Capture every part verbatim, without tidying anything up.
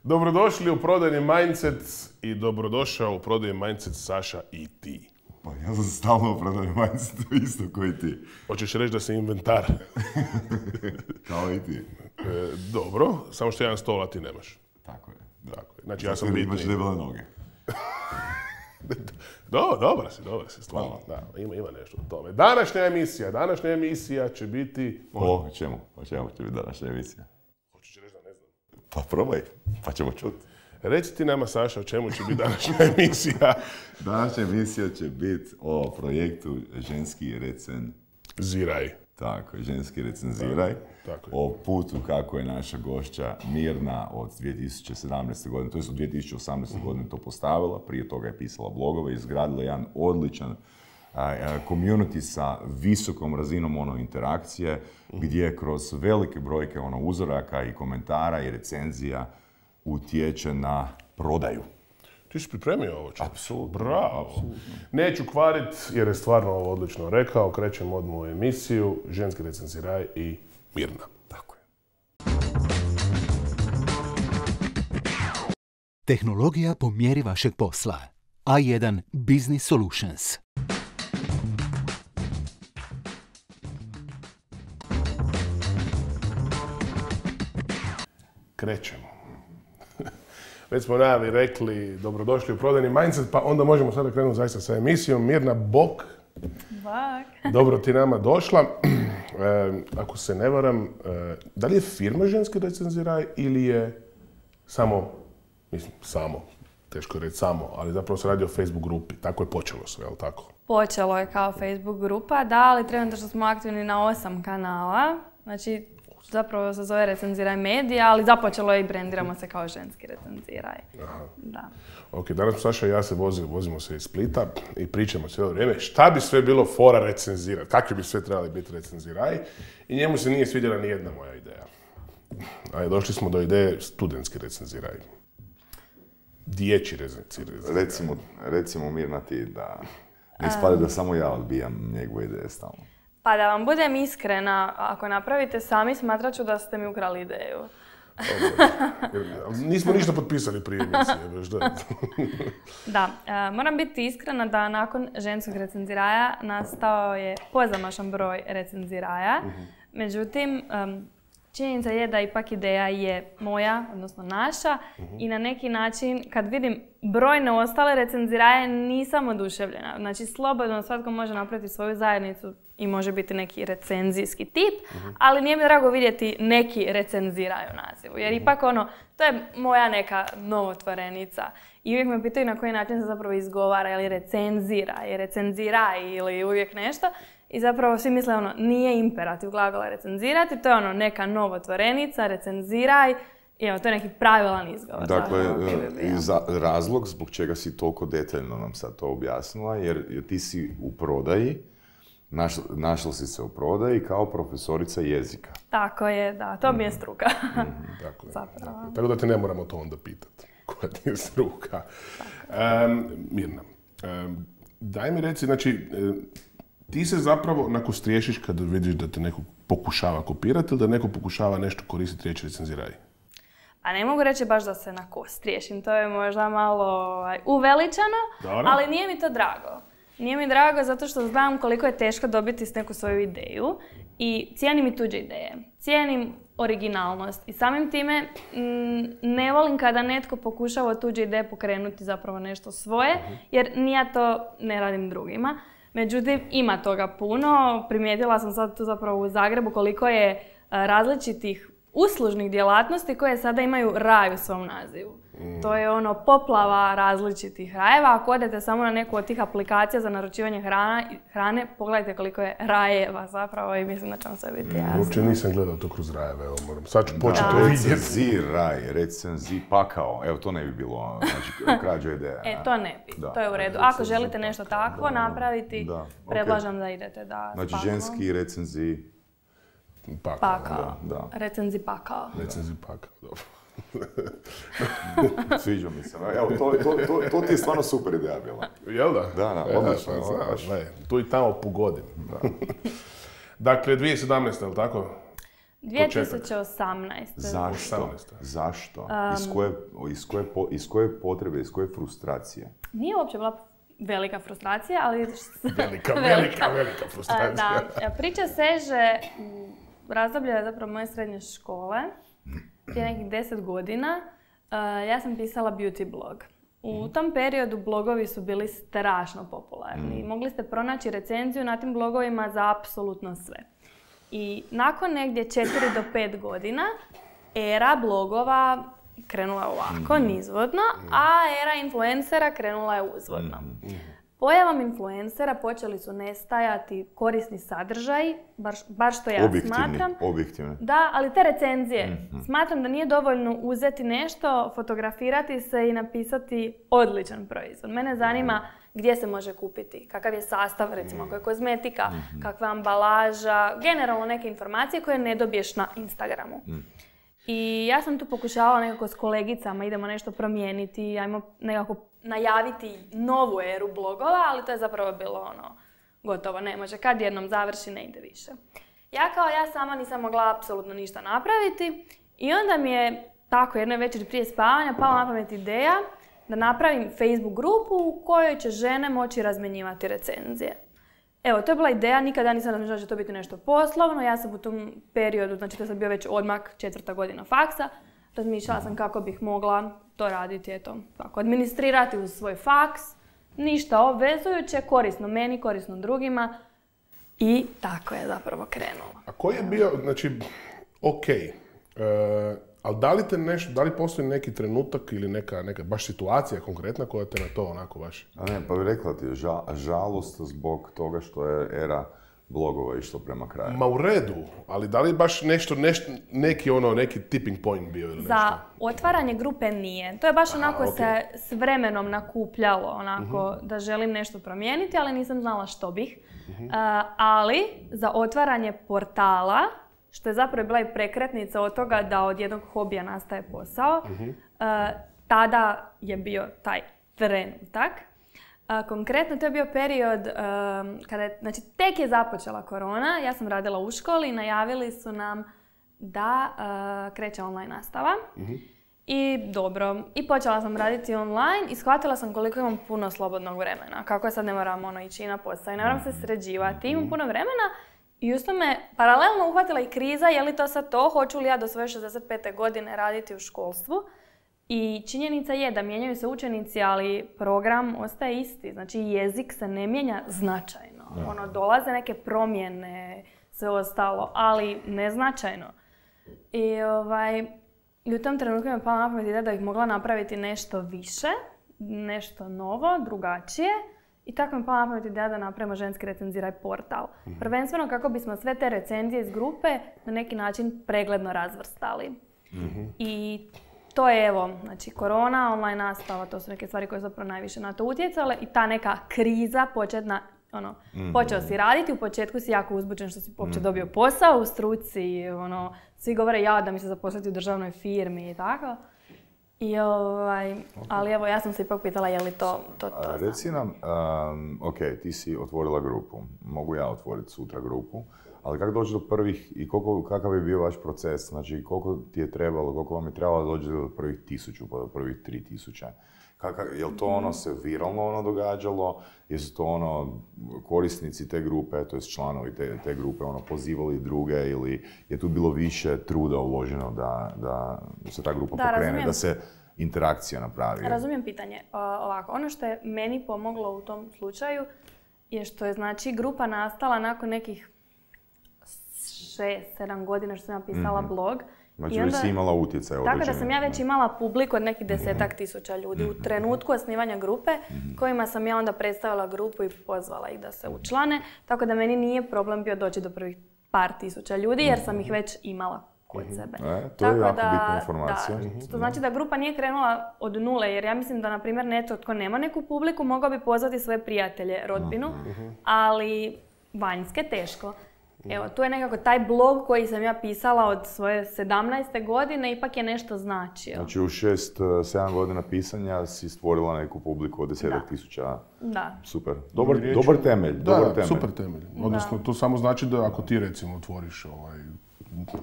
Dobrodošli u prodajni Mindset i dobrodošao u prodajni Mindset Saša i ti. Pa ja sam stalno u prodajni Mindsetu isto koji ti. Hoćeš reći da si inventar? Kao i ti. E, dobro, samo što jedan stol, a ti nemaš. Tako je. Da. Tako je. Znači ja sam bitniji. bitniji. Imaš debele noge. Do, dobra si, dobra si, stvarno. Da, ima, ima nešto u tome. Današnja emisija, današnja emisija će biti... O, o čemu? O čemu će biti današnja emisija? Hoćeš reći da ne znam. Pa probaj, pa ćemo čuti. Reci ti nama, Saša, o čemu će biti današnja emisija? Današnja emisija će biti o projektu Ženski recenziraj. Tako je, Ženski recenziraj. Tako je. O putu kako je naša gošća Mirna od dvije tisuće sedamnaeste. godine, to je od dvije tisuće osamnaeste. godine to postavila, prije toga je pisala blogove, izgradila jedan odličan community sa visokom razinom ono interakcije, gdje kroz velike brojke ono uzoraka i komentara i recenzija utječe na prodaju. Ti si pripremio ovo čovjek? Apsolutno. Bravo. Apsolutno. Neću kvarit jer je stvarno ovo odlično rekao. Krećemo odmah u emisiju Ženski recenziraj i Mirna. Tako je. Tehnologija po mjeri vašeg posla. A jedan Business Solutions. Krećemo. Već smo najavi rekli dobrodošli u prodajni Mindset, pa onda možemo sada krenuti zaista sa emisijom. Mirna, bok. Bok. Dobro ti nama došla. E, ako se ne varam, e, da li je firma Ženski recenziraj ili je samo, mislim, samo, teško je reći samo, ali zapravo se radi o Facebook grupi. Tako je počelo sve, je li tako? Počelo je kao Facebook grupa, da, ali trenutno što smo aktivni na osam kanala. Znači, zapravo se zove Recenziraj medija, ali započelo je i brendiramo se kao Ženski recenziraj. Aha. Da. Ok, danas Saša i ja se vozimo, vozimo se iz Splita i pričamo cijelo vrijeme šta bi sve bilo fora recenzirati, kakvi bi sve trebali biti recenziraj i njemu se nije svidjela ni jedna moja ideja. A došli smo do ideje studentski recenziraj. Dječji recenziraj. Recimo, recimo Mirna ti da ne ispada da samo ja odbijam njegove ideje stalno. Pa da vam budem iskrena, ako napravite sami, smatrat ću da ste mi ukrali ideju. Nismo ništa potpisali prije emisije, već da. Da, e, moram biti iskrena da nakon Ženskog recenziraja nastao je pozamašan broj recenziraja. Uh-huh. Međutim, um, činjenica je da ipak ideja je moja, odnosno naša, uh-huh. i na neki način kad vidim brojne ostale recenziraje nisam oduševljena. Znači, slobodno svatko može napraviti svoju zajednicu i može biti neki recenzijski tip, uh-huh. ali nije mi drago vidjeti neki recenziraj u nazivu. Jer uh-huh. ipak ono, to je moja neka novotvorenica. I uvijek me pitaju na koji način se zapravo izgovara, ili recenzira, ili recenziraj, ili uvijek nešto. I zapravo svi misle ono, nije imperativ glagola recenzirati, to je ono neka novotvorenica, recenziraj, i evo, to je neki pravilan izgovor. Dakle, za, razlog zbog čega si toliko detaljno nam sad to objasnila, jer ti si u prodaji, Naš, našla si se u prodaji kao profesorica jezika. Tako je, da. To mi je struka. Mm-hmm. Tako je. Zapravo. Tako da te ne moramo to onda pitati. Koja ti je struka. Um, Mirna, um, daj mi reci, znači, ti se zapravo onako striješiš kada vidiš da te neko pokušava kopirati ili da neko pokušava nešto koristiti riječ recenziraj? A ne mogu reći baš da se na ko striješim. To je možda malo uveličano, Dobre. Ali nije mi to drago. Nije mi drago zato što znam koliko je teško dobiti s neku svoju ideju i cijenim i tuđe ideje. Cijenim originalnost i samim time m, ne volim kada netko pokušava od tuđe ideje pokrenuti zapravo nešto svoje, jer ni ja to ne radim drugima. Međutim, ima toga puno. Primijetila sam sad tu zapravo u Zagrebu koliko je a, različitih uslužnih djelatnosti koje sada imaju raj u svom nazivu. Mm. To je ono poplava različitih rajeva. Ako odete samo na neku od tih aplikacija za naručivanje hrana, hrane, pogledajte koliko je rajeva zapravo i mislim da će vam sve biti jasno. Uopće nisam gledao to kroz rajeve, evo moram. Sad ću početi to vidjeti. Recenziraj, recenzij pakao. Evo, to ne bi bilo, znači, krađa ideja. E, to ne bi. Da. To je u redu. Ako želite nešto takvo da, napraviti, da. Predlažem okay. da idete da Znači, spakamo. Ženski recenzij pakao. Pakao. Da, da. Recenzij pakao. Recenzij pakao, dobro. Sviđa mi se. Evo, to, to, to, to ti je stvarno super ideja bila. Jel da? Da, da, odlično. E, znaš, ne, tu i tamo pogodim. Da. Dakle, dvije tisuće sedamnaeste, je li tako? dvije tisuće osamnaeste. Zašto? Zašto? Um, iz, koje, iz, koje po, iz koje potrebe, iz koje frustracije? Nije uopće bila velika frustracija, ali... velika, velika, velika frustracija. Da, priča seže u razdoblje zapravo moje srednje škole, prije nekih deset godina. Ja sam pisala beauty blog. U tom periodu blogovi su bili strašno popularni. Mogli ste pronaći recenziju na tim blogovima za apsolutno sve. I nakon negdje četiri do pet godina era blogova krenula je ovako, nizvodno, a era influencera krenula je uzvodno. Pojavom influencera počeli su nestajati korisni sadržaji, bar, bar što ja objektivni, smatram. Objektivni. Da, ali te recenzije. Mm-hmm. Smatram da nije dovoljno uzeti nešto, fotografirati se i napisati odličan proizvod. Mene zanima gdje se može kupiti, kakav je sastav, recimo, ako je kozmetika, mm-hmm. kakva je ambalaža, generalno neke informacije koje ne dobiješ na Instagramu. Mm. I ja sam tu pokušavala nekako s kolegicama, idemo nešto promijeniti, ajmo nekako najaviti novu eru blogova, ali to je zapravo bilo ono, gotovo, ne može, kad jednom završi, ne ide više. Ja kao ja sama nisam mogla apsolutno ništa napraviti i onda mi je tako jedne večeri prije spavanja pala na pamet ideja da napravim Facebook grupu u kojoj će žene moći razmjenjivati recenzije. Evo, to je bila ideja, nikada nisam razmišljala da će to biti nešto poslovno. Ja sam u tom periodu, znači to sam bio već odmak četvrta godina faksa, razmišljala sam kako bih mogla to raditi, eto, tako, administrirati uz svoj faks, ništa obvezujuće, korisno meni, korisno drugima i tako je zapravo krenulo. A koji je bio, znači, ok, e, ali da li te nešto, da li postoji neki trenutak ili neka, neka baš situacija konkretna koja te na to onako baš... A ne, pa bih rekla ti, ža, žalost zbog toga što je era blogova išlo prema kraju. Ma u redu, ali da li baš nešto, nešto neki ono, neki tipping point bio ili nešto? Za otvaranje grupe nije. To je baš onako Aha, okay. se s vremenom nakupljalo, onako uh-huh. da želim nešto promijeniti, ali nisam znala što bih. Uh-huh. Uh, ali za otvaranje portala, što je zapravo bila i prekretnica od toga da od jednog hobija nastaje posao, uh-huh. uh, tada je bio taj trenutak. Uh, konkretno, to je bio period um, kada je, znači tek je započela korona, ja sam radila u školi i najavili su nam da uh, kreće online nastava. Uh-huh. I dobro, i počela sam raditi online i shvatila sam koliko imam puno slobodnog vremena. Kako je sad ne moram ono, ići na posao i ne moram se sređivati, imam puno vremena. I usto me paralelno uhvatila i kriza, je li to sad to, hoću li ja do svoje šezdeset pete godine raditi u školstvu. I činjenica je da mijenjaju se učenici, ali program ostaje isti. Znači jezik se ne mijenja značajno. Ja. Ono, dolaze neke promjene, sve ostalo, ali neznačajno. I, ovaj, i u tom trenutku mi je pala na pamet ideja da bih mogla napraviti nešto više, nešto novo, drugačije. I tako mi je pala na pamet ideja da napravimo ženski recenziraj portal. Mm-hmm. Prvenstveno kako bismo sve te recenzije iz grupe na neki način pregledno razvrstali. Mm-hmm. I to je evo, znači korona, online nastava, to su neke stvari koje su zapravo najviše na to utjecale i ta neka kriza početna, ono, mm-hmm. počeo si raditi, u početku si jako uzbuđen što si uopće dobio posao u struci, ono, svi govore ja da mi se zaposliti u državnoj firmi i tako. I ovaj, okay. ali evo, ja sam se ipak pitala je li to to, to Reci nam, um, ok, ti si otvorila grupu, mogu ja otvoriti sutra grupu, ali kako doći do prvih i koliko, kakav je bio vaš proces, znači koliko ti je trebalo, koliko vam je trebalo doći do prvih tisuću, pa do prvih tri tisuća? Kaka, je li to ono se viralno ono događalo, jesu to ono korisnici te grupe, to je članovi te, te grupe ono pozivali druge ili je tu bilo više truda uloženo da, da se ta grupa da, pokrene, razumijem. Da se interakcija napravi? Razumijem pitanje. O, ovako, ono što je meni pomoglo u tom slučaju je što je znači grupa nastala nakon nekih šest, sedam godina što sam ja pisala mm-hmm. blog. Znači već si imala utjecaj određene. Tako da sam ja već imala publiku od nekih desetak tisuća ljudi u trenutku osnivanja grupe kojima sam ja onda predstavila grupu i pozvala ih da se učlane. Tako da meni nije problem bio doći do prvih par tisuća ljudi jer sam ih već imala kod sebe. E, to tako je jako da, bitna informacija. Da, to znači da grupa nije krenula od nule jer ja mislim da na primjer netko tko nema neku publiku mogao bi pozvati svoje prijatelje, rodbinu, ali vanjske teško. Evo, tu je nekako taj blog koji sam ja pisala od svoje sedamnaeste godine, ipak je nešto značio. Znači u šest, sedam godina pisanja si stvorila neku publiku od desetak tisuća. Da. Super. Dobar, dobar temelj. Da, dobar temelj. super temelj. Odnosno, da. To samo znači da ako ti recimo otvoriš ovaj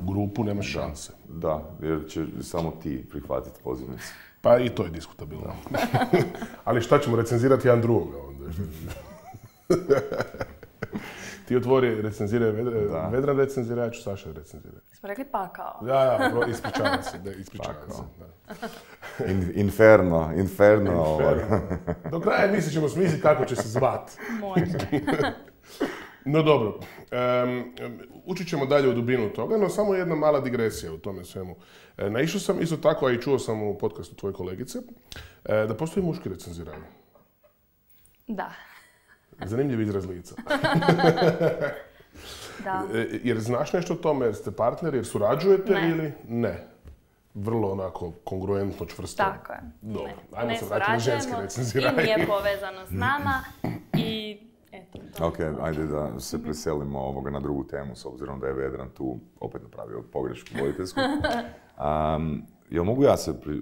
grupu, nemaš šanse. Da, jer će samo ti prihvatiti pozivnicu. Pa i to je diskutabilno. Ali šta ćemo recenzirati jedan drugoga onda? Ti otvori, recenziraj Vedran, Vedran recenzira, ja ću Saša recenzirati. Smo rekli pakao. Da, da, ispričavam se, da, ispričavam se. Da. In, inferno, inferno. inferno. Do kraja misli ćemo smisliti kako će se zvat. Može. No dobro, um, učit ćemo dalje u dubinu toga, no samo jedna mala digresija u tome svemu. E, naišao sam isto tako, a i čuo sam u podcastu tvoje kolegice, e, da postoji muški recenziranje. Da. Zanimljiv izraz lica. Da. E, jer znaš nešto o tome, jer ste partneri, jer surađujete ne. ili ne? Vrlo onako kongruentno, čvrsto. Tako je. Dobro, ne. ajmo ne se vratiti na ženske recenziranje. I nije povezano s nama i eto. To. Ok, ajde da se preselimo ovoga na drugu temu, s obzirom da je Vedran tu opet napravio pogrešku voditeljsku. Um, jel mogu ja se pri,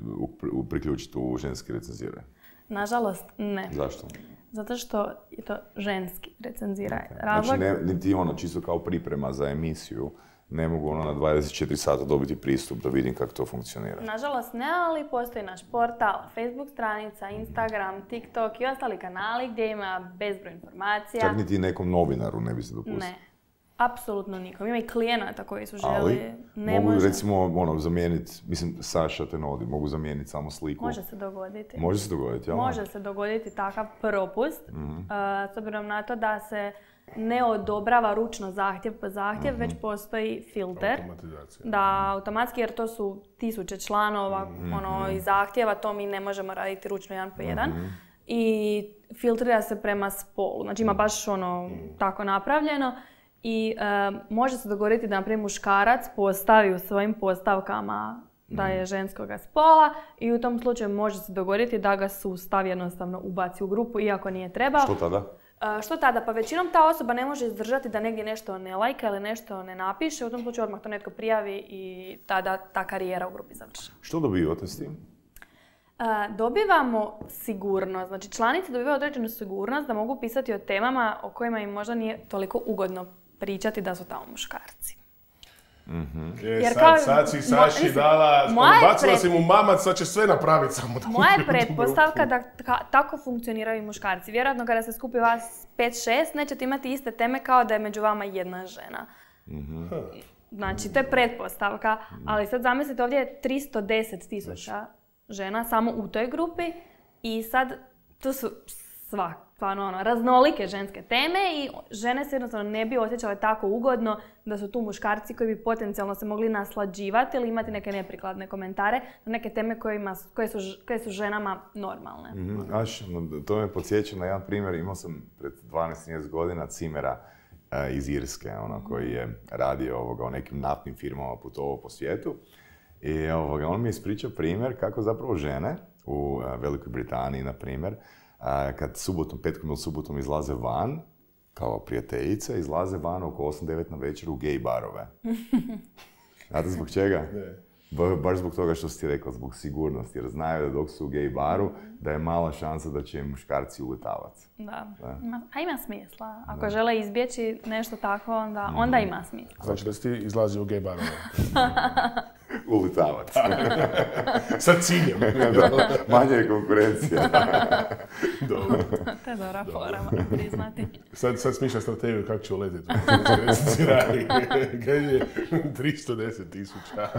u, priključiti u ženski recenziranje? Nažalost, ne. Zašto? Zato što je to ženski recenziranje. Okay. Razlog... Znači, ne, niti ono, čisto kao priprema za emisiju, ne mogu ono na dvadeset četiri sata dobiti pristup da vidim kako to funkcionira. Nažalost ne, ali postoji naš portal, Facebook stranica, Instagram, TikTok i ostali kanali gdje ima bezbroj informacija. Čak niti nekom novinaru ne bi se dopustio. Ne. Apsolutno nikom. Ima i klijenata koji su želi. Ali, ne mogu može. recimo ono, zamijeniti, mislim, Saša te navodi, mogu zamijeniti samo sliku. Može se dogoditi. Može se dogoditi, jel? Može se dogoditi takav propust, mm-hmm. uh, s obzirom na to da se ne odobrava ručno zahtjev po zahtjev, mm-hmm. već postoji filter. Automatizacija. Da, automatski, jer to su tisuće članova mm-hmm. ono, i zahtjeva, to mi ne možemo raditi ručno jedan po jedan. Mm-hmm. I filtrira se prema spolu. Znači ima baš ono mm-hmm. tako napravljeno. I uh, može se dogoditi da, na primjer, muškarac postavi u svojim postavkama da je ženskoga spola i u tom slučaju može se dogoditi da ga sustav jednostavno ubaci u grupu iako nije trebao. Što tada? Uh, što tada? Pa većinom ta osoba ne može izdržati da negdje nešto ne lajka ili nešto ne napiše. U tom slučaju odmah to netko prijavi i tada ta karijera u grupi završava. Što dobivate s tim? Uh, dobivamo sigurnost. Znači članice dobivaju određenu sigurnost da mogu pisati o temama o kojima im možda nije toliko ugodno pričati da su tamo muškarci. Mm-hmm. Je, Jer sad, kao, sad si Saši mo, dala, bacila pred... si mu mamac, sad će sve napraviti samo da... Moja je pretpostavka da ka, tako funkcioniraju muškarci. Vjerojatno kada se skupi vas pet šest, nećete imati iste teme kao da je među vama jedna žena. Mm-hmm. Znači, to je pretpostavka, ali sad zamislite, ovdje je tristo deset tisuća žena samo u toj grupi i sad tu su sva, stvarno ono, raznolike ženske teme i žene se jednostavno ne bi osjećale tako ugodno da su tu muškarci koji bi potencijalno se mogli naslađivati ili imati neke neprikladne komentare na neke teme kojima, koje, su, koje su ženama normalne. Mm-hmm. Aš, to me podsjeća na jedan primjer. Imao sam pred dvanaest trinaest godina cimera uh, iz Irske, ono, koji je radio ovoga, o nekim naftnim firmama, putovao po svijetu. I ovoga, on mi je ispričao primjer kako zapravo žene u uh, Velikoj Britaniji, na primjer, uh, kad subotom, petkom ili subotom izlaze van, kao prijateljice, izlaze van oko osam devet na večer u gej barove. Znate zbog čega? Ba, baš zbog toga što si ti rekla, zbog sigurnosti, jer znaju da dok su u gej baru, da je mala šansa da će im muškarci uletavati. Da, da. A ima smisla. Ako da. žele izbjeći nešto tako, onda, mm. onda ima smisla. Znači da si ti izlazi u gej barove. Uletavati. Sa ciljem. Manje je konkurencija. Dobro. To je dobra fora, priznati. Sad, sad smišlja strategiju kako će uletiti. Kaj je tristo deset tisuća.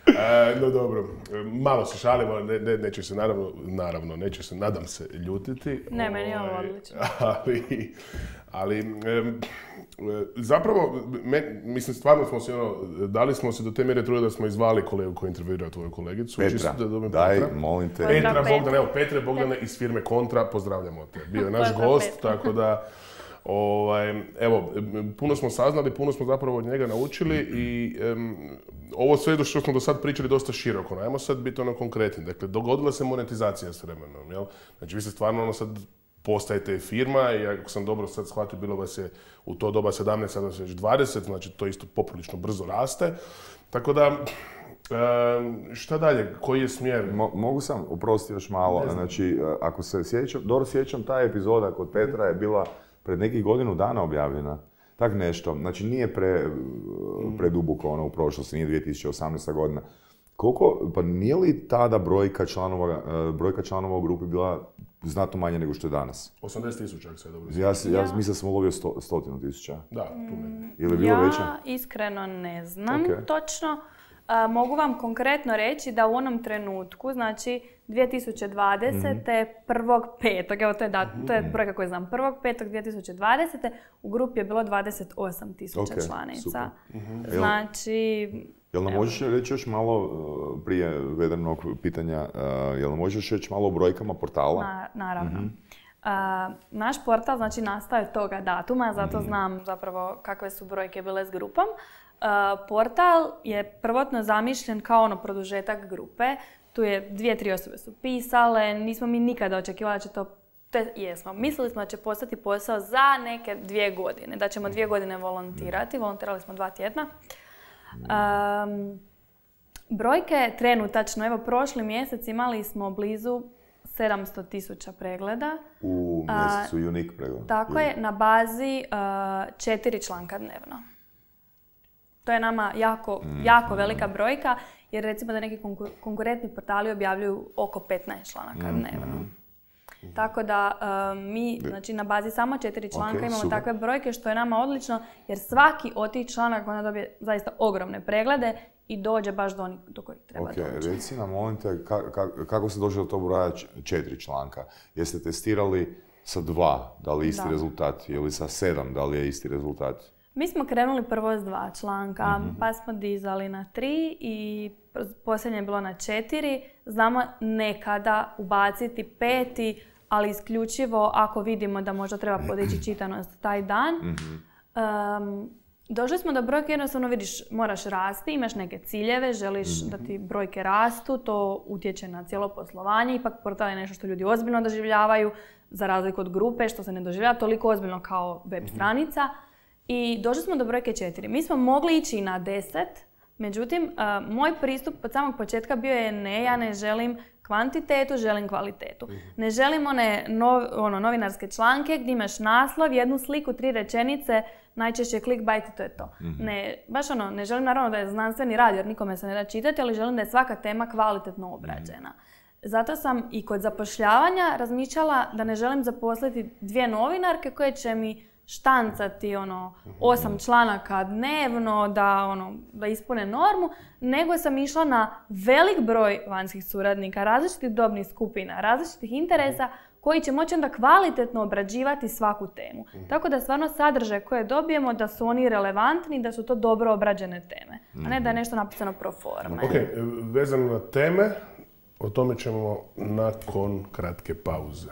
E, no dobro, malo se šalimo, ne, ne, neće se naravno, naravno, neće se, nadam se, ljutiti. Ne, meni je ovo odlično. Ali, ali e, zapravo, me, mislim, stvarno smo se, ono, dali smo se do te mjere trudili da smo izvali kolegu koji intervjuira tvoju kolegicu. Petra, da daj, Petra. molim te. Petra, Petra Bogdane, evo, Petre Bogdane iz firme Kontra, pozdravljamo te. Bio je naš gost, tako da... Ovaj, evo, puno smo saznali, puno smo zapravo od njega naučili i um, ovo sve što smo do sad pričali dosta široko. No, ajmo sad biti ono konkretni. Dakle, dogodila se monetizacija s vremenom, jel? Znači, vi ste stvarno ono sad postajete firma i ako sam dobro sad shvatio, bilo vas je u to doba sedamnaest, sada se već dvadeset, znači to isto poprilično brzo raste. Tako da, um, šta dalje? Koji je smjer? Mo, mogu sam uprostiti još malo. Znači, ako se sjećam, dobro sjećam, ta epizoda kod Petra je bila pred nekih godinu dana objavljena. Tak nešto. Znači nije pre, preduboko ono u prošlosti, nije dvije tisuće osamnaesta godina. Koliko, pa nije li tada brojka članova, brojka članova u grupi bila znatno manje nego što je danas? osamdeset tisuća, ako se dobro Ja, ja, ja mislim da sam ulovio sto, stotinu tisuća. Da, tu meni. Ili je bilo ja veće? iskreno ne znam Okay. točno. A, mogu vam konkretno reći da u onom trenutku, znači dvije tisuće dvadesete. Mm-hmm. prvog petog evo to je, dat, to je brojka koju znam, prvog petog dvije tisuće dvadesete. u grupi je bilo dvadeset osam tisuća okay, članica. Mm-hmm. Znači... Jel nam možeš reći još malo, prije vedenog pitanja, jel nam možeš reći malo o brojkama portala? Na, naravno. Mm-hmm. Uh, naš portal znači nastao je toga datuma, zato mm-hmm. znam zapravo kakve su brojke bile s grupom. Uh, portal je prvotno zamišljen kao ono produžetak grupe. Tu je dvije, tri osobe su pisale, nismo mi nikada očekivali da će to, te, jesmo, mislili smo da će postati posao za neke dvije godine, da ćemo dvije godine volontirati, volontirali smo dva tjedna. Um, brojke trenutačno, evo prošli mjesec imali smo blizu sedamsto tisuća pregleda. U mjesecu uh, unique pregleda. Tako unique. Je, na bazi uh, četiri članka dnevno. To je nama jako, mm. jako velika brojka, jer recimo da neki konkur- konkurentni portali objavljuju oko petnaest članaka mm. dnevno. Mm. Tako da um, mi znači, na bazi samo četiri članka okay, imamo super. Takve brojke, što je nama odlično, jer svaki od tih članaka onda dobije zaista ogromne preglede i dođe baš do onih do kojih treba okay, doći. Reci nam, molim te, ka, ka, kako se dođe do tog broja četiri članka? Jeste testirali sa dva, da li je isti da. rezultat, ili sa sedam, da li je isti rezultat? Mi smo krenuli prvo s dva članka, mm-hmm. pa smo dizali na tri i posljednje je bilo na četiri. Znamo nekada ubaciti peti, ali isključivo ako vidimo da možda treba podići čitanost taj dan. Mm-hmm. Um, došli smo do brojke, jednostavno vidiš, moraš rasti, imaš neke ciljeve, želiš mm-hmm. da ti brojke rastu, to utječe na cijelo poslovanje. Ipak portal je nešto što ljudi ozbiljno doživljavaju, za razliku od grupe, što se ne doživljava toliko ozbiljno kao web mm-hmm. stranica. I došli smo do brojke četiri. Mi smo mogli ići na deset, međutim, uh, moj pristup od samog početka bio je ne, ja ne želim kvantitetu, želim kvalitetu. Mm-hmm. Ne želim one nov, ono, novinarske članke gdje imaš naslov, jednu sliku, tri rečenice, najčešće clickbait i to je to. Mm-hmm. Ne, baš ono, ne želim naravno da je znanstveni rad jer nikome se ne da čitati, ali želim da je svaka tema kvalitetno obrađena. Mm-hmm. Zato sam i kod zapošljavanja razmišljala da ne želim zaposliti dvije novinarke koje će mi štancati ono, osam članaka dnevno da, ono, da ispune normu, nego sam išla na velik broj vanjskih suradnika, različitih dobnih skupina, različitih interesa koji će moći onda kvalitetno obrađivati svaku temu. Mm. Tako da stvarno sadržaj koje dobijemo da su oni relevantni, da su to dobro obrađene teme, mm. a ne da je nešto napisano pro forme. Ok, vezano na teme, o tome ćemo nakon kratke pauze.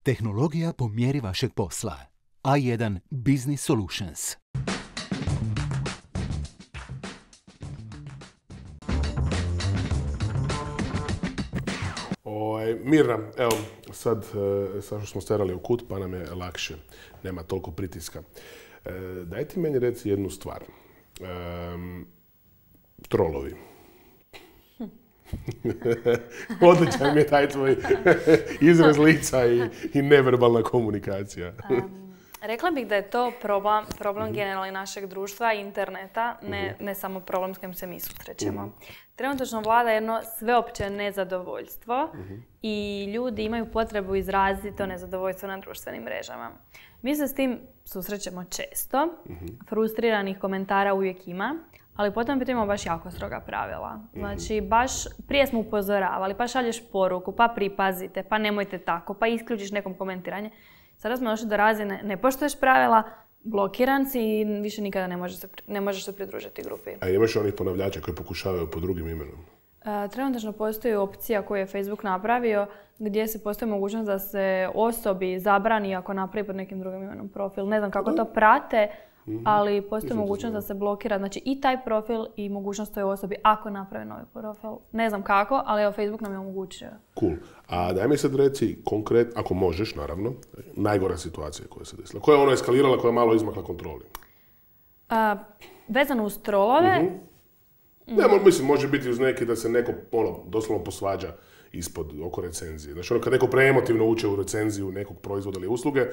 Tehnologija po mjeri vašeg posla. A jedan Business Solutions. Oj, Mirna, evo, sad, sad što smo sterali u kut, pa nam je lakše. Nema toliko pritiska. E, daj ti meni reci jednu stvar. E, trolovi. Odličan mi je taj tvoj izraz lica i, i neverbalna komunikacija. um, rekla bih da je to problem, problem generalni našeg društva i interneta, ne, ne samo problem s kojim se mi susrećemo. Uh-huh. Trenutačno vlada jedno sveopće nezadovoljstvo uh-huh. i ljudi imaju potrebu izraziti to nezadovoljstvo na društvenim mrežama. Mi se s tim susrećemo često, uh-huh. frustriranih komentara uvijek ima, ali potom imamo baš jako stroga pravila. Znači, baš prije smo upozoravali, pa šalješ poruku, pa pripazite, pa nemojte tako, pa isključiš nekom komentiranje. Sada smo došli do razine, ne poštuješ pravila, blokiran si i više nikada ne možeš se, ne možeš se pridružiti grupi. A imaš onih ponavljača koji pokušavaju pod drugim imenom? E, trenutačno postoji opcija koju je Facebook napravio gdje se postoji mogućnost da se osobi zabrani ako napravi pod nekim drugim imenom profil. Ne znam kako to prate, ali postoji mogućnost da se blokira, znači i taj profil i mogućnost toj osobi ako napravi novi profil. Ne znam kako, ali evo Facebook nam je omogućio. Cool. A daj mi sad reci konkretno, ako možeš naravno, najgora situacija koja se desila. Koja je ono eskalirala, koja je malo izmakla kontroli? A, vezano uz trolove, uh-huh. Ne, mo- mislim, može biti uz neki da se neko, ono, doslovno posvađa ispod, oko recenzije. Znači, ono, kad neko preemotivno uče u recenziju nekog proizvoda ili usluge,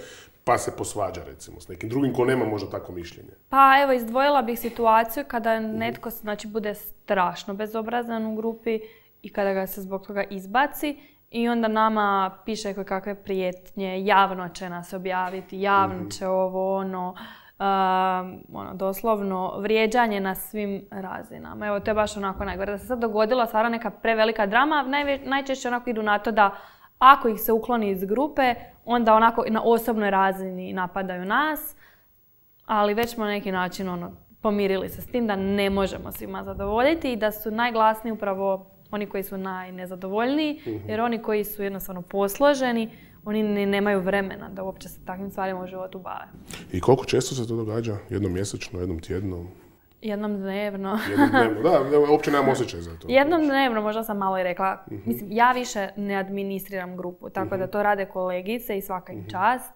pa se posvađa, recimo, s nekim drugim ko nema možda takvo mišljenje. Pa evo, izdvojila bih situaciju kada netko, znači, bude strašno bezobrazan u grupi i kada ga se zbog toga izbaci i onda nama piše koje kakve prijetnje, javno će nas objaviti, javno će ovo, ono, Um, ono, doslovno vrijeđanje na svim razinama. Evo, to je baš onako najgore. Da se sad dogodila stvarno neka prevelika drama, najve, najčešće onako idu na to da ako ih se ukloni iz grupe, onda onako na osobnoj razini napadaju nas, ali već smo na neki način ono, pomirili se s tim da ne možemo svima zadovoljiti i da su najglasniji upravo oni koji su najnezadovoljniji, jer oni koji su jednostavno posloženi, oni ne, nemaju vremena da uopće se takvim stvarima u životu bave. I koliko često se to događa? Jednom mjesečno, jednom tjedno? Jednom dnevno. Jednom dnevno, da, uopće nemam osjećaj za to. Jednom dnevno, možda sam malo i rekla. Uh-huh. Mislim, ja više ne administriram grupu, tako uh-huh. da to rade kolegice i svaka im čast.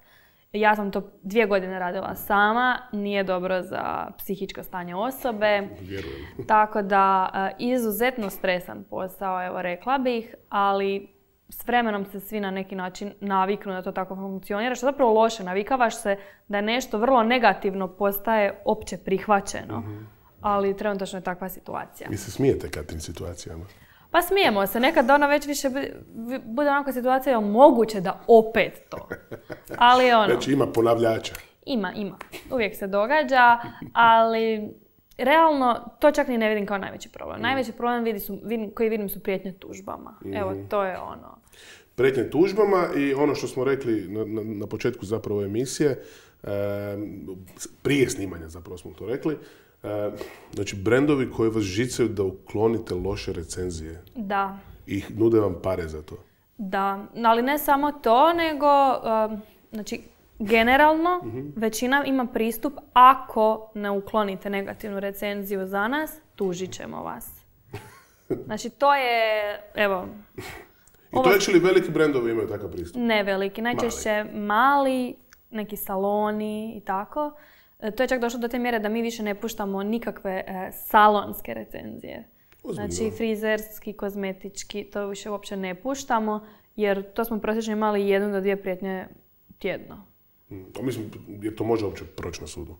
Ja sam to dvije godine radila sama, nije dobro za psihičko stanje osobe. Vjerujem. Tako da, izuzetno stresan posao, evo rekla bih, ali s vremenom se svi na neki način naviknu da to tako funkcionira, što zapravo loše. Navikavaš se da je nešto vrlo negativno postaje opće prihvaćeno. Mm-hmm. Ali trenutačno je takva situacija. Vi se smijete kad tim situacijama? Pa smijemo se. Nekad ono već više bude onako situacija je moguće da opet to. Ali ono... Znači ima ponavljača. Ima, ima. Uvijek se događa, ali realno to čak ni ne vidim kao najveći problem. Mm. Najveći problem vidi su, vidim, koji vidim su prijetnje tužbama. Mm. Evo, to je ono. Prijetnje tužbama i ono što smo rekli na, na, na početku zapravo emisije, e, prije snimanja zapravo smo to rekli, e, znači brendovi koji vas žicaju da uklonite loše recenzije. Da. I nude vam pare za to. Da, ali ne samo to, nego, um, znači, generalno, mm-hmm. većina ima pristup, ako ne uklonite negativnu recenziju za nas, tužit ćemo vas. Znači, to je, evo... I to je li veliki brendovi imaju takav pristup? Ne veliki, najčešće mali, mali neki saloni i tako. E, to je čak došlo do te mjere da mi više ne puštamo nikakve e, salonske recenzije. Ozbiljno. Znači, frizerski, kozmetički, to više uopće ne puštamo, jer to smo prosječno imali jednu do dvije prijetnje tjedno. Hmm. A mislim, jer to može uopće proći na sudu?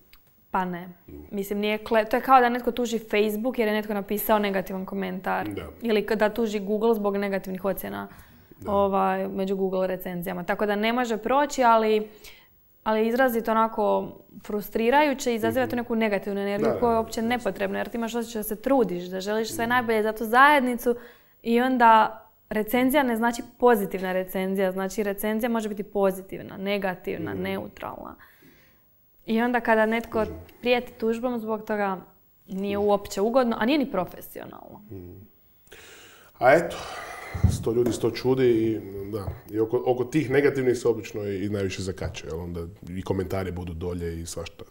Pa ne. Hmm. Mislim, nije kle... to je kao da netko tuži Facebook jer je netko napisao negativan komentar. Da. Ili da tuži Google zbog negativnih ocjena ovaj, među Google recenzijama. Tako da ne može proći, ali, ali izrazito onako frustrirajuće i izaziva mm-hmm. tu neku negativnu energiju da, koja je uopće nepotrebna. Jer ti imaš osjećaj da se trudiš, da želiš sve najbolje za tu zajednicu i onda recenzija ne znači pozitivna recenzija. Znači recenzija može biti pozitivna, negativna, mm. neutralna. I onda kada netko prijeti tužbom zbog toga nije uopće ugodno, a nije ni profesionalno. Mm. A eto, sto ljudi sto čudi i, da, i oko, oko tih negativnih se obično i, i najviše zakače. Onda i komentari budu dolje i svašta.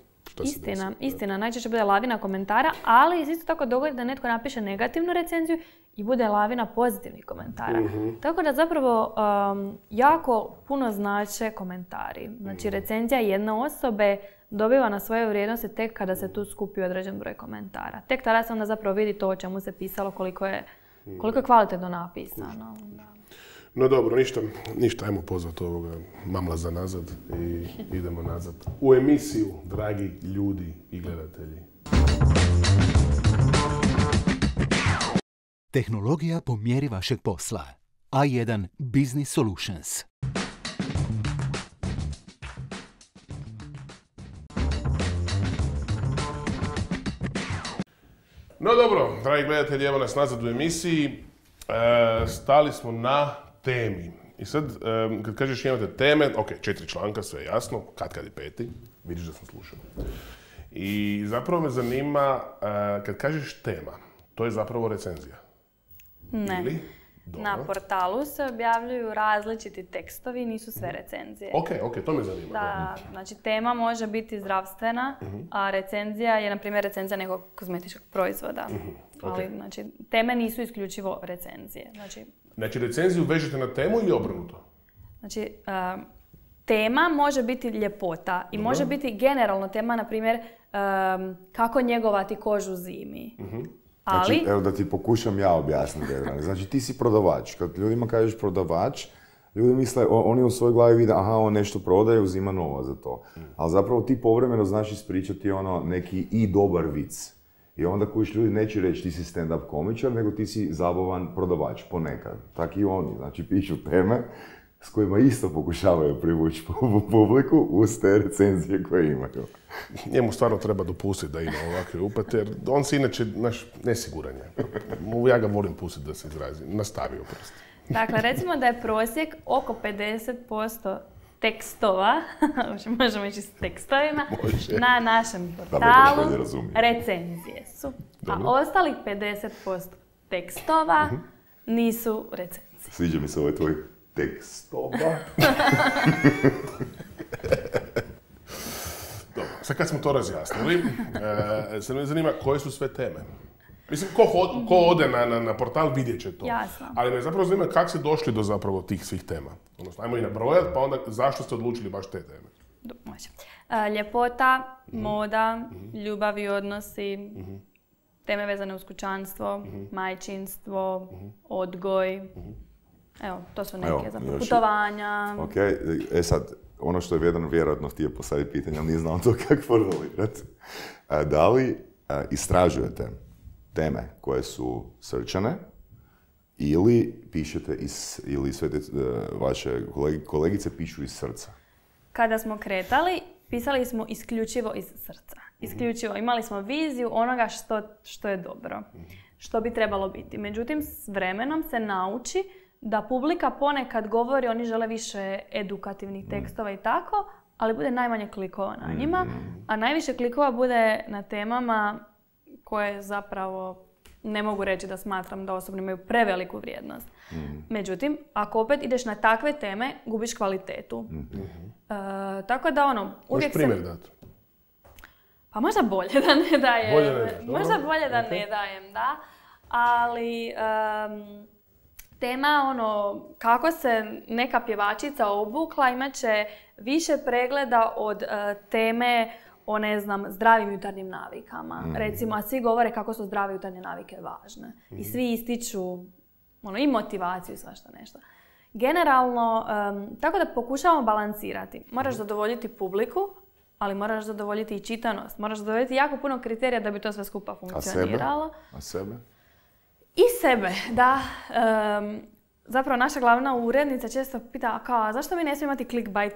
Istina, istina. Najčešće bude lavina komentara, ali isto tako dogodi da netko napiše negativnu recenziju i bude lavina pozitivnih komentara. Mm-hmm. Tako da zapravo um, jako puno znače komentari. Znači recenzija jedne osobe dobiva na svoje vrijednosti tek kada se tu skupi određen broj komentara. Tek tada se onda zapravo vidi to o čemu se pisalo, koliko je, koliko je kvalitetno napisano. Da. No dobro, ništa, ništa, ajmo pozvati ovoga mamla za nazad i idemo nazad u emisiju, dragi ljudi i gledatelji. Tehnologija po mjeri vašeg posla. A jedan Business Solutions. No dobro, dragi gledatelji, evo nas nazad u emisiji. E, stali smo na temi. I sad, um, kad kažeš imate teme, ok, četiri članka, sve je jasno, kad kad je peti, vidiš da sam slušao. I zapravo me zanima, uh, kad kažeš tema, to je zapravo recenzija? Ne. Ili? Na portalu se objavljuju različiti tekstovi, nisu sve recenzije. Ok, ok, to me zanima. Da, znači tema može biti zdravstvena, uh-huh. a recenzija je, na primjer, recenzija nekog kozmetičkog proizvoda. Uh-huh. Okay. Ali, znači, teme nisu isključivo recenzije. Znači, Znači, recenziju vežete na temu ili obrnuto? Znači, uh, tema može biti ljepota i Dobro. može biti generalno tema, na primjer, um, kako njegovati kožu zimi. Uh-huh. Ali... Znači, evo da ti pokušam ja objasniti. Znači, ti si prodavač. Kad ljudima kažeš prodavač, ljudi misle, oni u svojoj glavi vide, aha, on nešto prodaje, uzima novac za to. Mm. Ali zapravo ti povremeno znaš ispričati ono neki i dobar vic. I onda kojiš ljudi neće reći ti si stand-up komičar, nego ti si zabavan prodavač, ponekad. Tak i oni, znači pišu teme s kojima isto pokušavaju privući publiku uz te recenzije koje imaju. Njemu stvarno treba dopustiti da ima ovakve upate, jer on se inače, znaš, nesiguran je. Ja ga volim pustiti da se izrazi. Nastavio prosto. Dakle, recimo da je prosjek oko pedeset posto tekstova, možemo ići s tekstovima, Može. na našem portalu recenzije su. Dobro. A ostalih pedeset posto tekstova uh-huh. nisu recenzije. Sviđa mi se ovaj tvoj tekstova. Dobro, sad kad smo to razjasnili, e, sad me zanima koje su sve teme. Mislim, ko, hod, ko ode na, na, na portal vidjet će to. Jasno. Ali me zapravo zanima kako ste došli do zapravo tih svih tema. Odnosno, ajmo i nabrojati, pa onda zašto ste odlučili baš te teme? Do, može. E, ljepota, mm-hmm. moda, mm-hmm. ljubav i odnosi, mm-hmm. teme vezane uz kućanstvo, mm-hmm. majčinstvo, mm-hmm. odgoj. Mm-hmm. Evo, to su neke Evo, zapravo putovanja. Ok, e sad, ono što je Vedran vjerojatno htio postaviti pitanje, ali nije znao to kako formulirati. Da li a, istražujete teme koje su srčane ili pišete iz, ili sve te, vaše kolegi, kolegice pišu iz srca? Kada smo kretali, pisali smo isključivo iz srca. Isključivo. Imali smo viziju onoga što, što je dobro, što bi trebalo biti. Međutim, s vremenom se nauči da publika ponekad govori, oni žele više edukativnih tekstova i tako, ali bude najmanje klikova na njima, a najviše klikova bude na temama koje zapravo ne mogu reći da smatram da osobno imaju preveliku vrijednost. Mm. Međutim, ako opet ideš na takve teme, gubiš kvalitetu. Mm-hmm. E, tako da ono, uvijek se... primjer dati? Pa možda bolje da ne dajem. Bolje ne daš, možda bolje da okay. ne dajem, da. Ali um, tema ono, kako se neka pjevačica obukla, imat će više pregleda od uh, teme o, ne znam, zdravim jutarnjim navikama. Mm. Recimo, a svi govore kako su zdrave jutarnje navike važne. Mm. I svi ističu ono, i motivaciju i svašta nešto. Generalno, um, tako da pokušavamo balansirati. Moraš zadovoljiti publiku, ali moraš zadovoljiti i čitanost. Moraš zadovoljiti jako puno kriterija da bi to sve skupa funkcioniralo. A sebe? A sebe? I sebe, da. Um, zapravo, naša glavna urednica često pita, kao, a zašto mi ne smijemo imati clickbait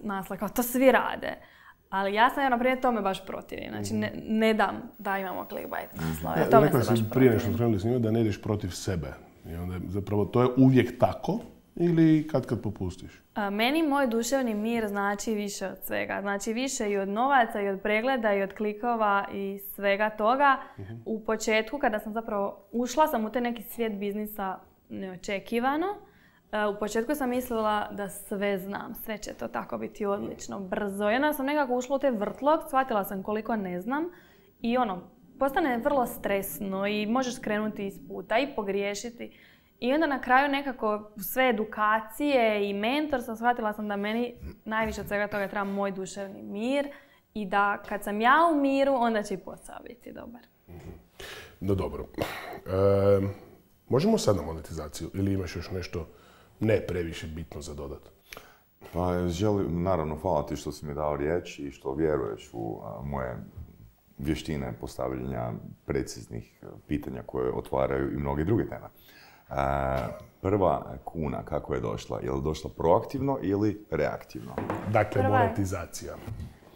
naslov? Kao, to svi rade. Ali ja sam, na primjer, tome baš protivim. Znači, ne, ne dam da imamo clickbait naslove. Ja, tome se baš protivim. Prije nešto krenuli snimati da ne ideš protiv sebe. I onda, zapravo, to je uvijek tako ili kad kad popustiš? A, meni moj duševni mir znači više od svega. Znači, više i od novaca, i od pregleda, i od klikova, i svega toga. Uh-huh. U početku, kada sam zapravo ušla sam u taj neki svijet biznisa neočekivano, u početku sam mislila da sve znam, sve će to tako biti odlično, brzo. Jedna sam nekako ušla u taj vrtlog, shvatila sam koliko ne znam i ono, postane vrlo stresno i možeš skrenuti iz puta i pogriješiti. I onda na kraju nekako sve edukacije i mentorstva shvatila sam da meni najviše od svega toga treba moj duševni mir i da kad sam ja u miru, onda će i posao biti dobar. No dobro. E, možemo sad na monetizaciju ili imaš još nešto ne previše bitno za dodat? Pa želim, naravno, hvala ti što si mi dao riječ i što vjeruješ u a, moje vještine postavljanja preciznih pitanja koje otvaraju i mnoge druge teme. A, prva kuna, kako je došla? Je li došla proaktivno ili reaktivno? Dakle, prva monetizacija.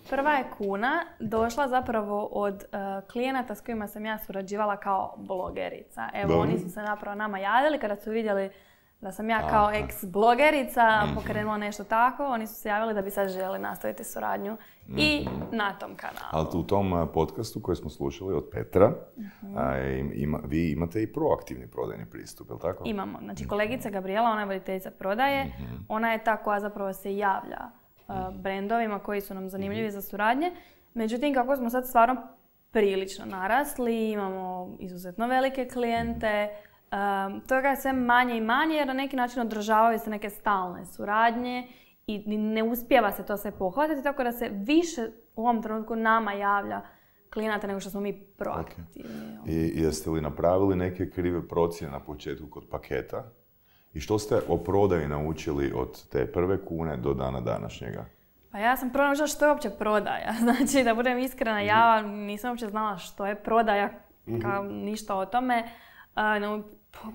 Prva je kuna došla zapravo od uh, klijenata s kojima sam ja surađivala kao blogerica. Evo, Dobre. Oni su se napravo nama javili kada su vidjeli da sam ja kao ex-blogerica mm-hmm. pokrenula nešto tako. Oni su se javili da bi sad željeli nastaviti suradnju mm-hmm. i na tom kanalu. Ali u tom podcastu koji smo slušali od Petra, mm-hmm. a, ima, vi imate i proaktivni prodajni pristup, je li tako? Imamo. Znači, kolegica Gabriela, ona je voditeljica prodaje, mm-hmm. ona je ta koja zapravo se javlja uh, brendovima koji su nam zanimljivi mm-hmm. za suradnje. Međutim, kako smo sad stvarno prilično narasli, imamo izuzetno velike klijente, Um, toga je sve manje i manje jer na neki način održavaju se neke stalne suradnje i ne uspijeva se to sve pohvatiti, tako da se više u ovom trenutku nama javlja klijenata nego što smo mi proaktivni. Okay. I jeste li napravili neke krive procjene na početku kod paketa? I što ste o prodaji naučili od te prve kune do dana današnjega? Pa ja sam prvo naučila što je uopće prodaja. Znači, da budem iskrena, ja nisam uopće znala što je prodaja, kao ništa o tome. Uh, no, po,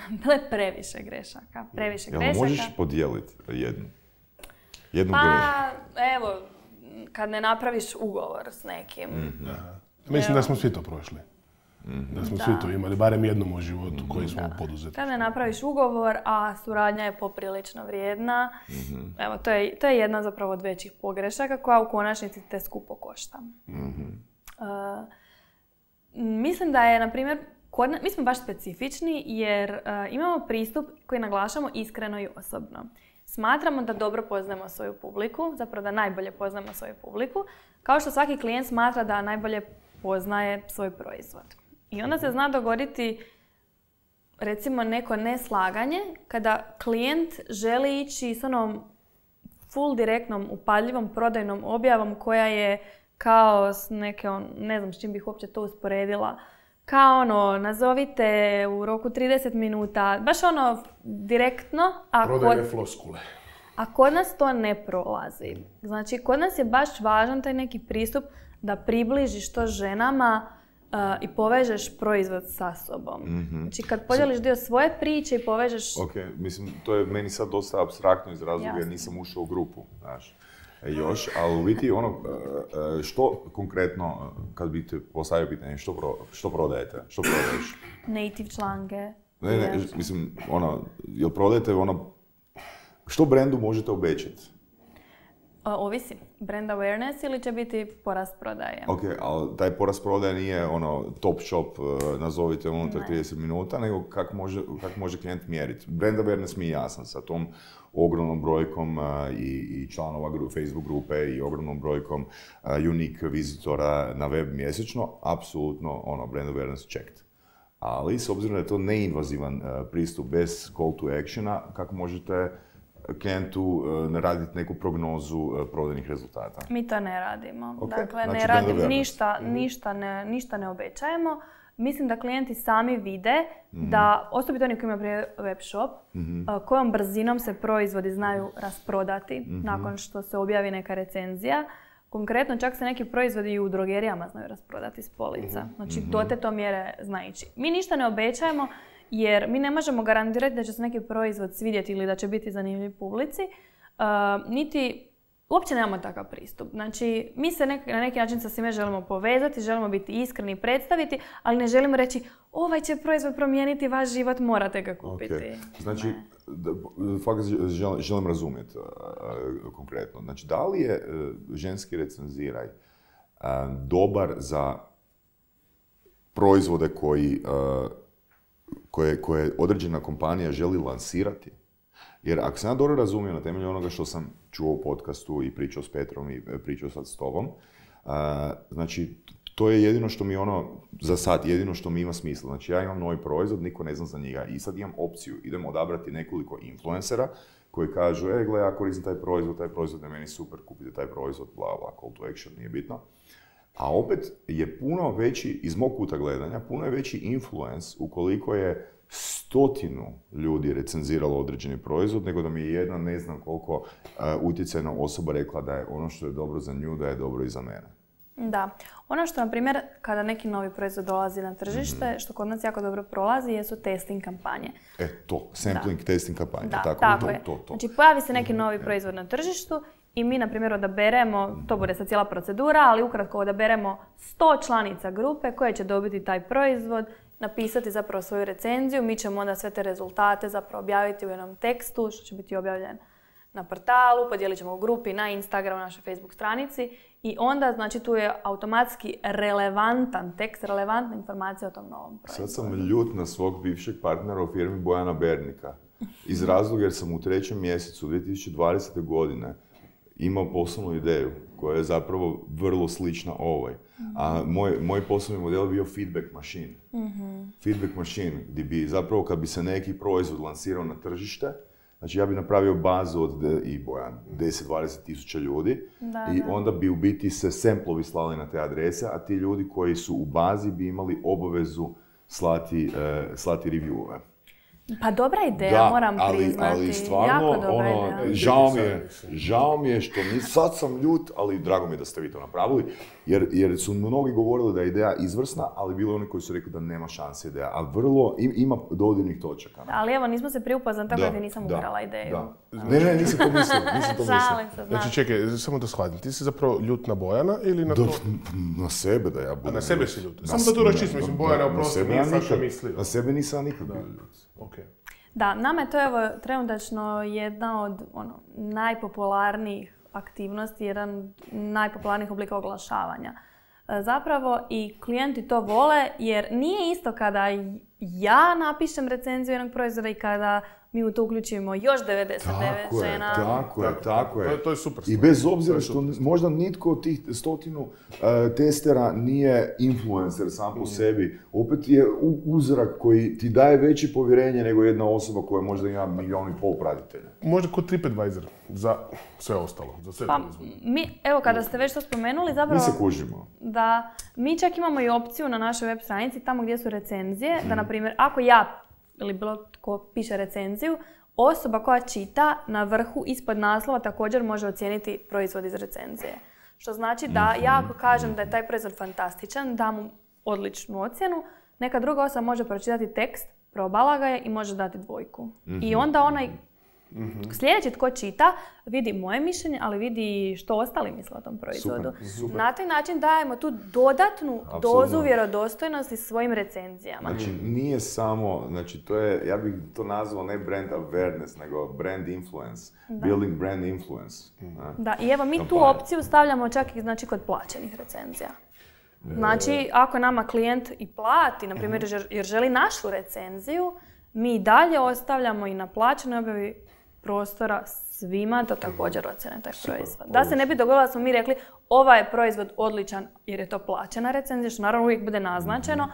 bilo je previše grešaka. Previše Jel grešaka. možeš podijeliti jednu? Jednu pa, grešku? evo, kad ne napraviš ugovor s nekim. Mm-hmm. Mislim da smo svi to prošli. Mm-hmm. Da smo da. svi to imali, barem jednom u životu mm-hmm. koji smo poduzeli. Kad ne napraviš ugovor, a suradnja je poprilično vrijedna, mm-hmm. evo, to je, to je jedna zapravo od većih pogrešaka koja u konačnici te skupo košta. Mm-hmm. Uh, mislim da je, na primjer, kod, mi smo baš specifični jer uh, imamo pristup koji naglašamo iskreno i osobno. Smatramo da dobro poznajemo svoju publiku, zapravo da najbolje poznajemo svoju publiku, kao što svaki klijent smatra da najbolje poznaje svoj proizvod. I onda se zna dogoditi, recimo, neko neslaganje kada klijent želi ići s onom full direktnom, upadljivom prodajnom objavom koja je kao s neke, on, ne znam s čim bih uopće to usporedila, kao ono, nazovite u roku trideset minuta, baš ono direktno. A prodajne kod, floskule. A kod nas to ne prolazi. Znači, kod nas je baš važan taj neki pristup da približiš to ženama uh, i povežeš proizvod sa sobom. Mm-hmm. Znači, kad podijeliš dio svoje priče i povežeš... Ok, mislim, to je meni sad dosta apstraktno iz razloga jer nisam ušao u grupu, znaš. Još, ali u biti ono, što konkretno, kad bi te postavio pitanje, što, pro, što prodajete? Što prodaješ? Native članke. Ne, ne, mislim, ono, jel prodajete ono, što brendu možete obećati? Ovisi. Brand awareness ili će biti porast prodaje. Ok, ali taj porast prodaje nije ono top shop, nazovite unutar trideset minuta, nego kako može, kak može klijent mjeriti. Brand awareness mi je jasan sa tom ogromnom brojkom uh, i, i članova gru, Facebook grupe i ogromnom brojkom uh, unique vizitora na web mjesečno, apsolutno ono, brand awareness checked. Ali s obzirom da je to neinvazivan uh, pristup bez call to actiona, kako možete klijentu uh, raditi neku prognozu uh, prodajnih rezultata? Mi to ne radimo. Okay. Dakle, znači, ne radimo ništa, mm-hmm. ništa, ne, ništa ne obećajemo. Mislim da klijenti sami vide mm-hmm. da, osobito oni koji imaju web shop, mm-hmm. uh, kojom brzinom se proizvodi znaju rasprodati mm-hmm. nakon što se objavi neka recenzija. Konkretno, čak se neki proizvodi i u drogerijama znaju rasprodati s polica. Znači, mm-hmm. do te to mjere zna ići. Mi ništa ne obećajemo jer mi ne možemo garantirati da će se neki proizvod svidjeti ili da će biti zanimljiv publici, uh, niti uopće nemamo takav pristup. Znači, mi se nek- na neki način sa svime želimo povezati, želimo biti iskreni i predstaviti, ali ne želimo reći ovaj će proizvod promijeniti vaš život, morate ga kupiti. Okay. Znači, da, fakat želim, želim razumjeti uh, konkretno. Znači, da li je uh, ženski recenziraj uh, dobar za proizvode koji, uh, koje, koje određena kompanija želi lansirati? Jer ako sam ja dobro razumio na temelju onoga što sam čuo u podcastu i pričao s Petrom i pričao sad s tobom, uh, znači to je jedino što mi ono, za sad, jedino što mi ima smisla. Znači ja imam novi proizvod, niko ne zna za njega i sad imam opciju, idemo odabrati nekoliko influencera koji kažu, e, gle, ja koristim taj proizvod, taj proizvod je meni super, kupite taj proizvod, bla, bla, call to action, nije bitno. A opet je puno veći, iz mog kuta gledanja, puno je veći influence ukoliko je stotinu ljudi recenziralo određeni proizvod, nego da mi je jedna, ne znam koliko, uh, utjecajna osoba rekla da je ono što je dobro za nju, da je dobro i za mene. Da. Ono što, na primjer, kada neki novi proizvod dolazi na tržište, mm-hmm. što kod nas jako dobro prolazi, jesu testing kampanje. E, to. Sampling, da. Testing kampanje. Da, tako, tako to, je. To, to. Znači, pojavi se neki novi proizvod na tržištu i mi, na primjer, odaberemo, to bude sad cijela procedura, ali ukratko odaberemo sto članica grupe koje će dobiti taj proizvod, napisati zapravo svoju recenziju, mi ćemo onda sve te rezultate zapravo objaviti u jednom tekstu, što će biti objavljen na portalu, podijelit ćemo u grupi, na Instagramu, na našoj Facebook stranici i onda, znači, tu je automatski relevantan tekst, relevantna informacija o tom novom proizvodu. Sad sam ljut na svog bivšeg partnera u firmi Bojana Bernika. Iz razloga jer sam u trećem mjesecu dvije tisuće dvadesete. godine imao poslovnu ideju koja je zapravo vrlo slična ovoj. Mm-hmm. A moj, moj poslovni model je bio feedback machine. Mm-hmm. Feedback machine, gdje bi zapravo kad bi se neki proizvod lansirao na tržište, Znači ja bi napravio bazu od de, i bojan, deset do dvadeset tisuća ljudi Da, i da. onda bi u biti se semplovi slali na te adrese, a ti ljudi koji su u bazi bi imali obavezu slati, uh, slati review-ove. Pa dobra ideja, Da, moram ali, priznati. ali stvarno, jako dobra ono, ideja. žao mi je, žao mi je što ni, sad sam ljut, ali drago mi je da ste vi to napravili, jer, jer su mnogi govorili da je ideja izvrsna, ali bilo oni koji su rekli da nema šanse ideja, a vrlo, im, ima dodirnih točaka. Ali evo, nismo se prije upoznali, tako da ti nisam da, ukrala ideju. Da. Ne, ne, nisam to mislio, nisam to mislio. Šalim se, znaš. Znači, čekaj, samo da shvatim, ti si zapravo ljut na Bojana ili na Da, to? na sebe da ja budem. A na sebe ljut. si ljut? Na Samo da tu s- raščisti, mislim, Bojana, na oprosti, sebe nije ja sad što nikad- mislio. Na sebe nisam nikad bio ljut. Okay. Da, nama je to evo trenutačno jedna od ono, najpopularnijih aktivnosti, jedan od najpopularnijih oblika oglašavanja. E, Zapravo i klijenti to vole jer nije isto kada ja napišem recenziju jednog proizvoda i kada mi u to uključimo još devedeset devet Tako je, žena. tako je, tako je. To je- to je super I stvar. bez To obzira je što super možda nitko od tih stotinu uh, testera nije influencer sam po sebi, opet je u- uzrak koji ti daje veće povjerenje nego jedna osoba koja možda ima milijon i pol pratitelja. Možda kod TripAdvisor za sve ostalo, za sve Pa, proizvode. mi, evo kada ste već to spomenuli, Mi zapravo se kužimo. da mi čak imamo i opciju na našoj web stranici tamo gdje su recenzije, da na primjer ako ja ili bilo tko piše recenziju, osoba koja čita na vrhu ispod naslova također može ocijeniti proizvod iz recenzije. Što znači da ja ako kažem da je taj proizvod fantastičan, dam mu odličnu ocjenu, neka druga osoba može pročitati tekst, probala ga je i može dati dvojku. I onda onaj sljedeći tko čita vidi moje mišljenje, ali vidi što ostali misle o tom proizvodu. Super, super. Na taj način dajemo tu dodatnu Apsolutno. dozu vjerodostojnosti svojim recenzijama. Znači, nije samo, znači, to je, ja bih to nazvao ne brand awareness, nego brand influence. Building brand influence. ne? Da, i evo mi tu Kampanja. opciju stavljamo čak i znači, kod plaćenih recenzija. Znači, ako nama klijent i plati, na primjer, jer- jer želi našu recenziju, mi i dalje ostavljamo i na plaćenoj objavi prostora svima da također ocjene taj proizvod. Da se ne bi dogodilo da smo mi rekli ovaj je proizvod odličan jer je to plaćena recenzija, što naravno uvijek bude naznačeno,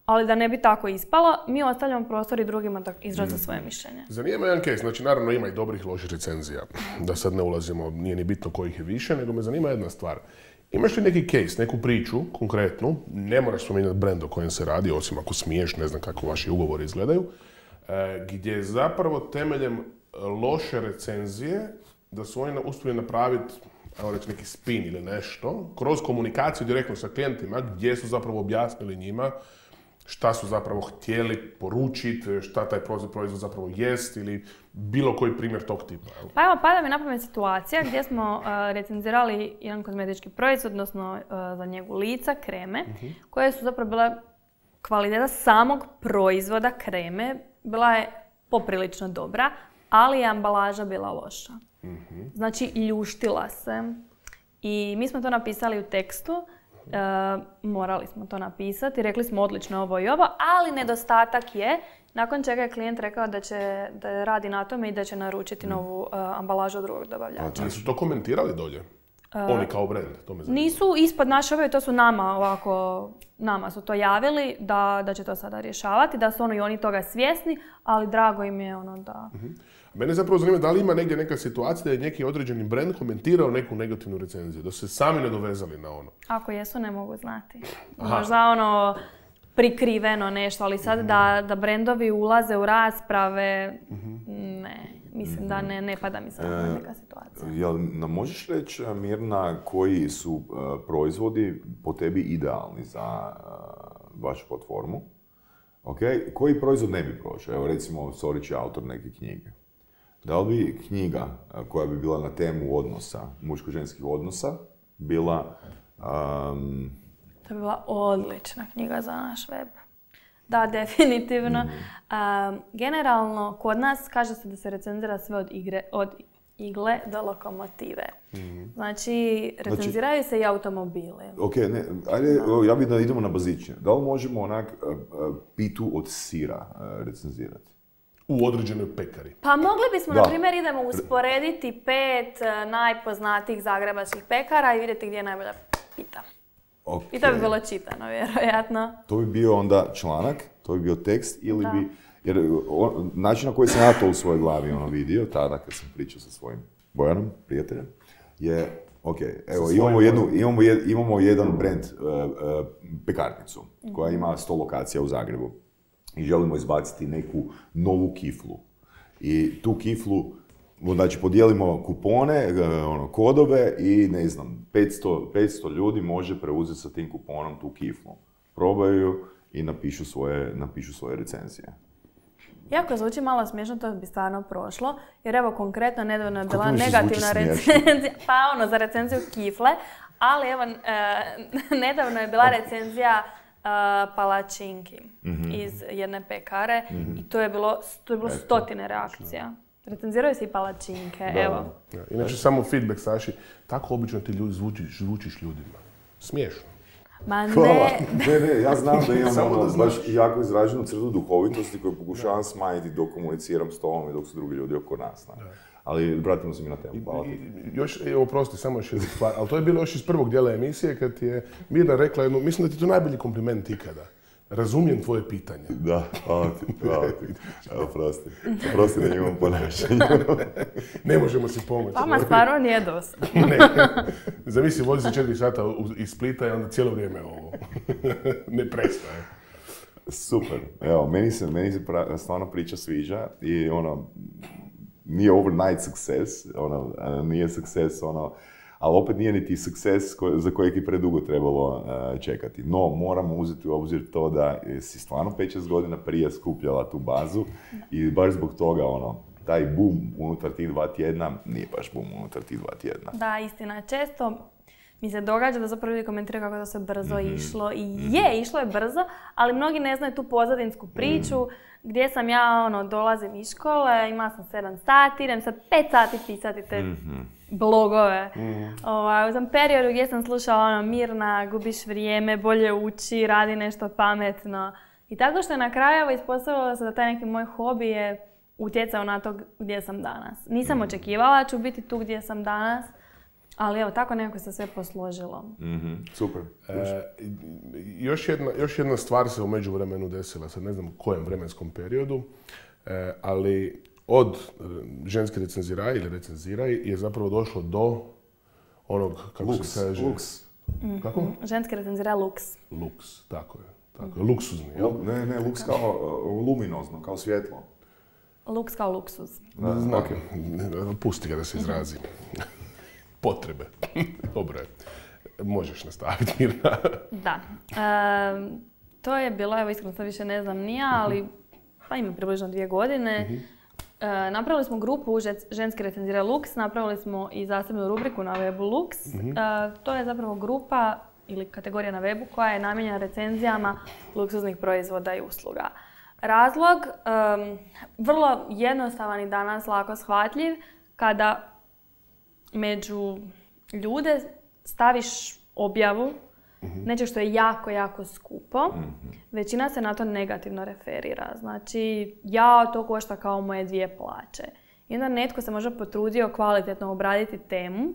ali da ne bi tako ispalo, mi ostavljamo prostor i drugima da izraze svoje mišljenje. Zanima me jedan case, znači naravno ima i dobrih i loših recenzija, da sad ne ulazimo, nije ni bitno kojih je više, nego me zanima jedna stvar. Imaš li neki case, neku priču konkretnu, ne moraš spominjati brand o kojem se radi, osim ako smiješ, ne znam kako vaši ugovori izgledaju, e, gdje zapravo temeljem loše recenzije, da su oni uspjeli napraviti, ajmo reći, neki spin ili nešto, kroz komunikaciju direktno sa klijentima, gdje su zapravo objasnili njima šta su zapravo htjeli poručiti, šta taj proizvod, proizvod zapravo jest ili bilo koji primjer tog tipa. Evo. Pa evo, pada mi na pamet situacija gdje smo uh, recenzirali jedan kozmetički proizvod, odnosno uh, za njegu lica, kreme, koje su zapravo bile kvaliteta samog proizvoda kreme, bila je poprilično dobra, ali je ambalaža bila loša. Znači, ljuštila se. I mi smo to napisali u tekstu, e, morali smo to napisati, rekli smo odlično ovo i ovo, ali nedostatak je, nakon čega je klijent rekao da će da radi na tome i da će naručiti novu e, ambalažu od drugog dobavljača. Ali su to komentirali dolje? Oni kao brand, to me zanima. Nisu ispod naše objave, to su nama ovako, nama su to javili da, da će to sada rješavati, da su ono i oni toga svjesni, ali drago im je ono da... Mene zapravo zanima da li ima negdje neka situacija da je neki određeni brand komentirao neku negativnu recenziju, da su se sami nadovezali na ono. Ako jesu, ne mogu znati. Aha. Možda ono prikriveno nešto, ali sad da, da brendovi ulaze u rasprave, ne. Mislim da ne, ne pada mi sad na neka situacija. Jel nam možeš reći, Mirna, koji su uh, proizvodi po tebi idealni za uh, vašu platformu? Okay. Koji proizvod ne bi prošao? Evo recimo, Sorić je autor neke knjige. Da li bi knjiga uh, koja bi bila na temu odnosa, muško-ženskih odnosa, bila... Um, To bi bila odlična knjiga za naš web. Da, definitivno. Um, generalno, kod nas kaže se da se recenzira sve od, igre, od igle do lokomotive. Znači, recenziraju se i automobili. ok, ne, ajde, ja bih da idemo na bazičnije. Da li možemo onak uh, uh, pitu od sira uh, recenzirati? U određenoj pekari. Pa mogli bismo, Da. na primjer, idemo usporediti pet uh, najpoznatijih zagrebačkih pekara i vidjeti gdje je najbolja pita. Okay. I to bi bilo čitano, vjerojatno. To bi bio onda članak, to bi bio tekst ili Da. bi, Jer on, način na koji sam ja to u svojoj glavi ono vidio, tada kad sam pričao sa svojim Bojanom, prijateljem, je, ok, evo, imamo, jednu, imamo, jed, imamo jedan brand, uh, uh, pekarnicu, koja ima sto lokacija u Zagrebu i želimo izbaciti neku novu kiflu. I tu kiflu, znači podijelimo kupone, ono, kodove i ne znam, petsto, petsto ljudi može preuzeti sa tim kuponom tu kiflu. Probaju i napišu svoje, napišu svoje recenzije. Iako zvuči malo smiješno, to bi stvarno prošlo, jer evo konkretno nedavno je bila negativna recenzija, pa ono za recenziju kifle, ali evo e, nedavno je bila recenzija e, palačinki mm-hmm. iz jedne pekare mm-hmm. i to je bilo, to je bilo stotine reakcija. Recenziraju se i palačinke, da, evo. Da. Inače, samo feedback, Saši, tako obično ti ljudi zvučiš, zvučiš ljudima. Smiješno. Ma ne. ne, ne, ja znam da imam ono, da baš jako izraženu crtu duhovitosti koju pokušavam smanjiti dok komuniciram s tobom i dok su drugi ljudi oko nas. Ne? Ali vratimo se mi na temu. Hvala ti. Još, evo, prosti, samo još jedna stvar, ali to je bilo još iz prvog dijela emisije kad ti je Mirna rekla jednu, mislim da ti je to najbolji kompliment ikada. Razumijem tvoje pitanje. Da, hvala ti, hvala ti. Evo, prosti. Prosti da imam ponašanje. Ne možemo si pomoći. Vama stvarno nije dosta. Ne. Zamisli, vozi se četiri sata iz Splita i onda cijelo vrijeme ovo. Ne prestaje. Super. Evo, meni se, meni se pra, stvarno priča sviđa i ono, nije overnight success, ono, nije success, ono, ali opet nije niti sukces ko, za kojeg je predugo trebalo uh, čekati. No, moramo uzeti u obzir to da si stvarno pet šest godina prije skupljala tu bazu i baš zbog toga, ono, taj boom unutar tih dva tjedna nije baš boom unutar tih dva tjedna. Da, istina. Često mi se događa da zapravo ljudi komentiraju kako to se brzo mm-hmm. išlo i mm-hmm. je, išlo je brzo, ali mnogi ne znaju tu pozadinsku priču mm-hmm. gdje sam ja, ono, dolazim iz škole, imala sam sedam sati, idem sad pet sati pisati te mm-hmm. blogove. Mm-hmm. Ovaj, u tom periodu gdje sam slušala ono, Mirna, gubiš vrijeme, bolje uči, radi nešto pametno. I tako što je na kraju evo, ispostavilo se da taj neki moj hobi je utjecao na to gdje sam danas. Nisam mm-hmm. očekivala ću biti tu gdje sam danas, ali evo, tako nekako se sve posložilo. Mm-hmm. Super. E, još, jedna, još jedna stvar se u međuvremenu desila, sad ne znam u kojem vremenskom periodu, e, ali od ženske recenziraj ili recenziraj je zapravo došlo do onog, kako Lux, se kaže... Lux. Mm-hmm. Kako? Ženske recenziraj Lux. Lux, tako je. Tako je. Luksuzni, jel? Ne, ne, Lux kao uh, luminozno, kao svjetlo. Lux kao luksuz. Da, znam. Okay. Pusti ga da se izrazi. Potrebe. Dobro je. Možeš nastaviti, Mirna. Da. E, to je bilo, evo iskreno sad više ne znam nija, ali pa ima približno dvije godine. Uh-huh. E, napravili smo grupu Ženski recenziraj Lux, napravili smo i zasebnu rubriku na webu Lux. Uh-huh. E, to je zapravo grupa ili kategorija na webu koja je namijenjena recenzijama luksuznih proizvoda i usluga. Razlog, um, vrlo jednostavan i danas lako shvatljiv, kada među ljude staviš objavu mm-hmm. nečeg što je jako, jako skupo, mm-hmm. većina se na to negativno referira. Znači, ja to košta kao moje dvije plaće. I onda netko se možda potrudio kvalitetno obraditi temu,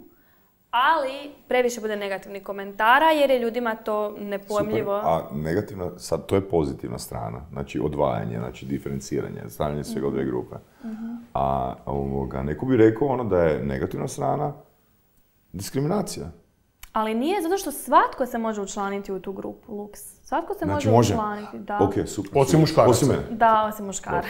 ali previše bude negativnih komentara jer je ljudima to nepojmljivo. Super. A negativna, sad to je pozitivna strana, znači odvajanje, znači diferenciranje, stavljanje svega u dvije grupe. Mm-hmm. A ovoga, neko bi rekao ono da je negativna strana diskriminacija. Ali nije, zato što svatko se može učlaniti u tu grupu Lux. Svatko se znači, može učlaniti, da. Ok, super. Osim muškaraca. Osim mene. Da, osim muškaraca.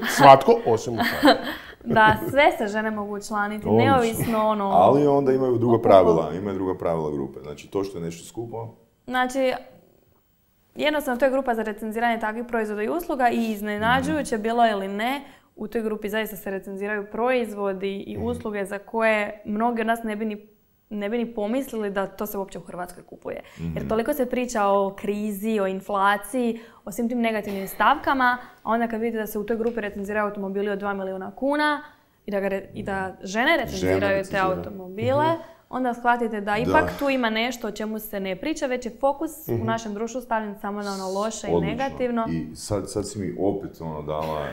Svatko, osim muškaraca. Da, sve se žene mogu učlaniti, neovisno ono... Ali onda imaju druga pravila, imaju druga pravila grupe. Znači, to što je nešto skupo... Znači, jednostavno to je grupa za recenziranje takvih proizvoda i usluga i iznenađujuće, bilo ili ne, u toj grupi zaista se recenziraju proizvodi i usluge za koje mnogi od nas ne bi ni ne bi ni pomislili da to se uopće u Hrvatskoj kupuje. Mm-hmm. Jer toliko se priča o krizi, o inflaciji, o svim tim negativnim stavkama, a onda kad vidite da se u toj grupi recenziraju automobili od dva milijuna kuna i da, ga re, i da žene recenziraju žene te recenzira. automobile, mm-hmm. onda shvatite da ipak da. tu ima nešto o čemu se ne priča, već je fokus mm-hmm. u našem društvu stavljen samo na ono loše Odlično. i negativno. I sad, sad si mi opet ono dala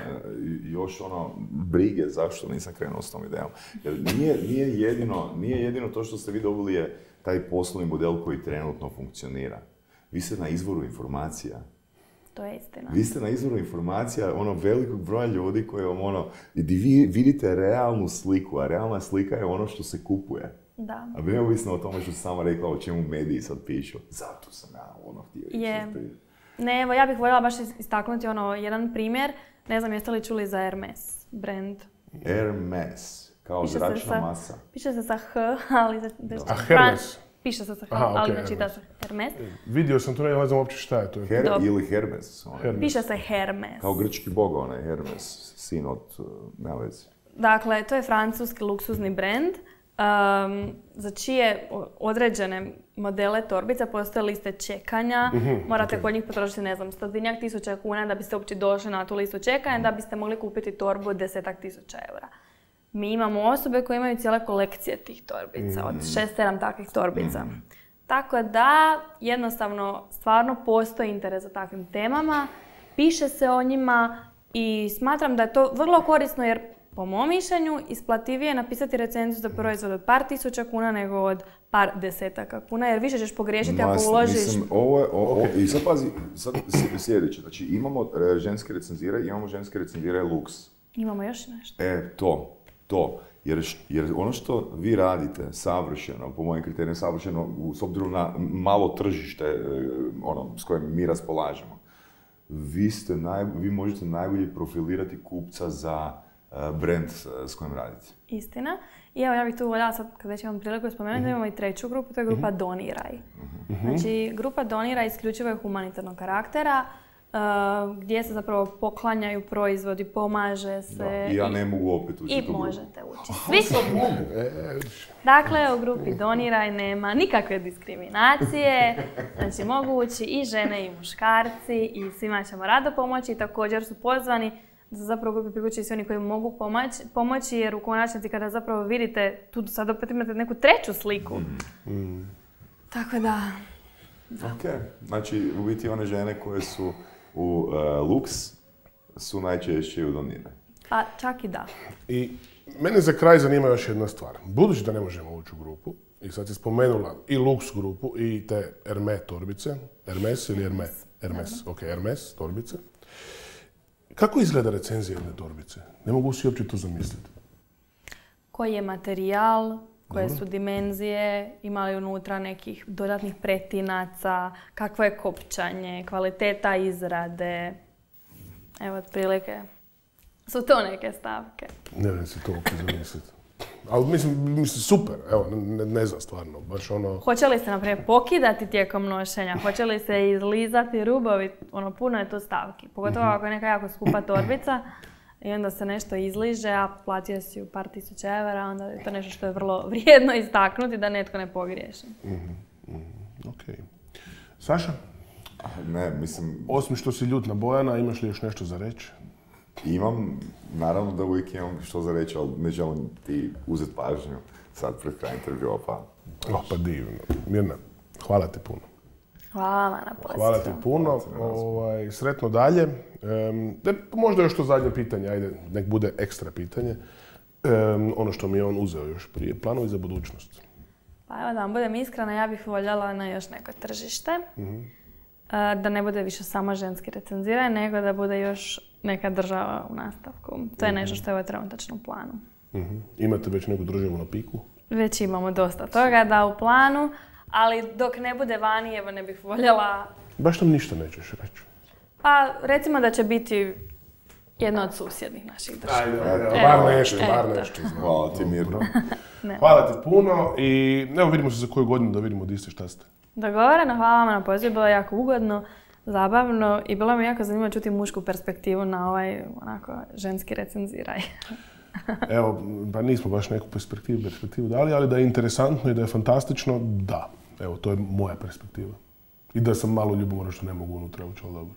još ono brige zašto nisam krenuo s tom idejom. Jer nije, nije, jedino, nije jedino to što ste vi dobili je taj poslovni model koji trenutno funkcionira. Vi ste na izvoru informacija. To je istina. Vi ste na izvoru informacija ono velikog broja ljudi koji vam ono, gdje vi vidite realnu sliku, a realna slika je ono što se kupuje. Da. A bi neovisno o tome što si sama rekla o čemu mediji sad pišu. Zato sam ja ono htio reći. Je. Ne, evo, ja bih voljela baš istaknuti ono, jedan primjer. Ne znam, jeste li čuli za Hermes brand? Hermes, kao Piše zračna se sa, masa. Piše se sa H, ali... Za, A Hermes? Piše se sa H, Aha, ali okay, ne čita se Hermes. Vidio sam to, ne znam uopće šta je to. Her Dobro. ili Hermes. Onaj. Hermes. Piše se Hermes. Kao grčki bog, onaj Hermes, sin od, uh, nema vezi. Dakle, to je francuski luksuzni brand um, za čije određene modele torbica postoje liste čekanja. Mhm, Morate ok. kod njih potrošiti, ne znam, stotinjak tisuća kuna da biste uopće došli na tu listu čekanja, da biste mogli kupiti torbu od desetak tisuća eura. Mi imamo osobe koje imaju cijele kolekcije tih torbica, od šest, sedam takvih torbica. Tako da, jednostavno, stvarno postoji interes za takvim temama, piše se o njima i smatram da je to vrlo korisno jer, po mom mišljenju, isplativije je napisati recenziju za proizvod od par tisuća kuna nego od par desetaka kuna, jer više ćeš pogriješiti ako Mas, uložiš... Mislim, ovo je, o, o, i sad pazi, sad sljedeće, znači imamo e, ženske recenzire, imamo ženske recenzire luks. Imamo još nešto. E, to, to. Jer, š- jer ono što vi radite savršeno, po mojim kriterijima savršeno, u- s obzirom na malo tržište e, ono, s kojim mi raspolažemo, vi, ste naj, vi možete najbolje profilirati kupca za e, brand e, s kojim radite. Istina. I evo, ja bih tu voljela sad, kad već imam priliku spomenuti, da imamo i treću grupu, to je grupa Doniraj. Znači, grupa Doniraj isključivo je humanitarnog karaktera, uh, gdje se zapravo poklanjaju proizvodi, pomaže se. Da. I ja ne mogu opet ući I u tu grupu. možete ući. Svi Dakle, u grupi Doniraj nema nikakve diskriminacije, znači mogu ući i žene i muškarci i svima ćemo rado pomoći i također su pozvani da se zapravo u grupi priključi svi oni koji mogu pomoći, pomoći jer u konačnici kada zapravo vidite, tu sad opet imate neku treću sliku. Tako da, Ok, znači u biti one žene koje su u uh, luks su najčešće u Doniraj. pa čak i da. I mene za kraj zanima još jedna stvar. Budući da ne možemo ući u grupu, i sad si spomenula i Lux grupu i te Hermes torbice, Hermes ili Hermes? Hermes, ok, Hermes torbice. Kako izgleda recenzija jedne torbice? Ne mogu si uopće to zamisliti. Koji je materijal, koje su dimenzije, ima li unutra nekih dodatnih pretinaca, kakvo je kopčanje, kvaliteta izrade. Evo, otprilike su to neke stavke. Ne vem si to uopće zamisliti. Ali mislim, mislim, super, evo, ne, ne znam stvarno, baš ono... Hoće li se, na primjer, pokidati tijekom nošenja? Hoće li se izlizati rubovi? Ono, puno je tu stavki. Pogotovo ako je neka jako skupa torbica i onda se nešto izliže, a platio si u par tisuća evra, onda je to nešto što je vrlo vrijedno istaknuti da netko ne pogriješi. Ok. Saša, Ne, mislim, osim što si ljut na Bojana, imaš li još nešto za reći? imam, naravno da uvijek imam što za reći, ali ne želim ti uzeti pažnju sad pred kraj intervjua, pa... Oh, pa divno. Mirna, hvala ti puno. Hvala vam na pozivu. Hvala ti puno. Ovaj, sretno dalje. Em, de, možda još to zadnje pitanje, ajde, nek bude ekstra pitanje. Em, ono što mi je on uzeo još prije. Planovi za budućnost. Pa evo da vam budem iskrena, ja bih voljela na još neko tržište. E, Da ne bude više samo ženski recenziranje, nego da bude još neka država u nastavku. To je nešto što je u trenutačnom planu. Mhm. Imate već neku državu na piku? Već imamo dosta toga da u planu, ali dok ne bude vani, evo ne bih voljela. Baš nam ništa nećeš reći. Pa recimo da će biti jedna od susjednih naših država. Ajde, bar nešto, bar eto. nešto. znam. Hvala ti, Mirno. Hvala ti puno i evo vidimo se za koju godinu da vidimo di ste, šta ste. Dogovoreno, hvala vam na pozivu, bilo je jako ugodno, zabavno i bilo mi jako zanimljivo čuti mušku perspektivu na ovaj onako ženski recenziraj. Evo, pa nismo baš neku perspektivu, perspektivu dali, ali da je interesantno i da je fantastično, da. Evo, to je moja perspektiva. I da sam malo ljubomoran što ne mogu unutra ući, ali dobro.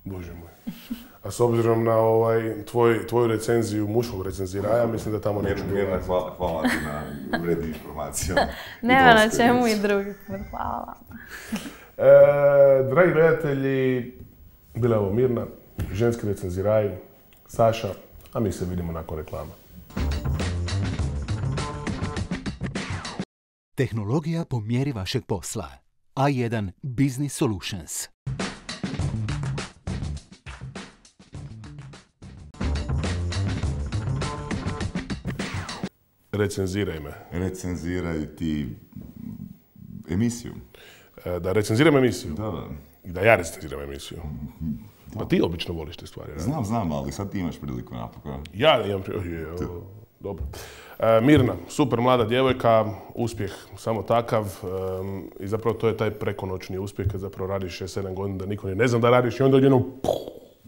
Bože moj. A s obzirom na ovaj, tvoj, tvoju recenziju muškog recenziraja, mislim da tamo neću Mirna, biti. hvala, hvala ti na vrednim informacijama. Nema na čemu i drugi put, hvala vam. E, dragi gledatelji, bila je ovo Mirna, ženski recenziraj, Saša, a mi se vidimo nakon reklama. Tehnologija po mjeri vašeg posla. A jedan Business Solutions. Recenziraj me. Recenziraj ti emisiju. E, da recenziram emisiju? Da, da. I da ja recenziram emisiju? Da. Pa ti obično voliš te stvari, ne? Znam, znam, ali sad ti imaš priliku napokon. Ja imam priliku. Dobro. E, Mirna, super mlada djevojka, uspjeh samo takav e, i zapravo to je taj prekonoćni uspjeh kad zapravo radiš šest sedam godina da niko ne zna da radiš i onda odjednom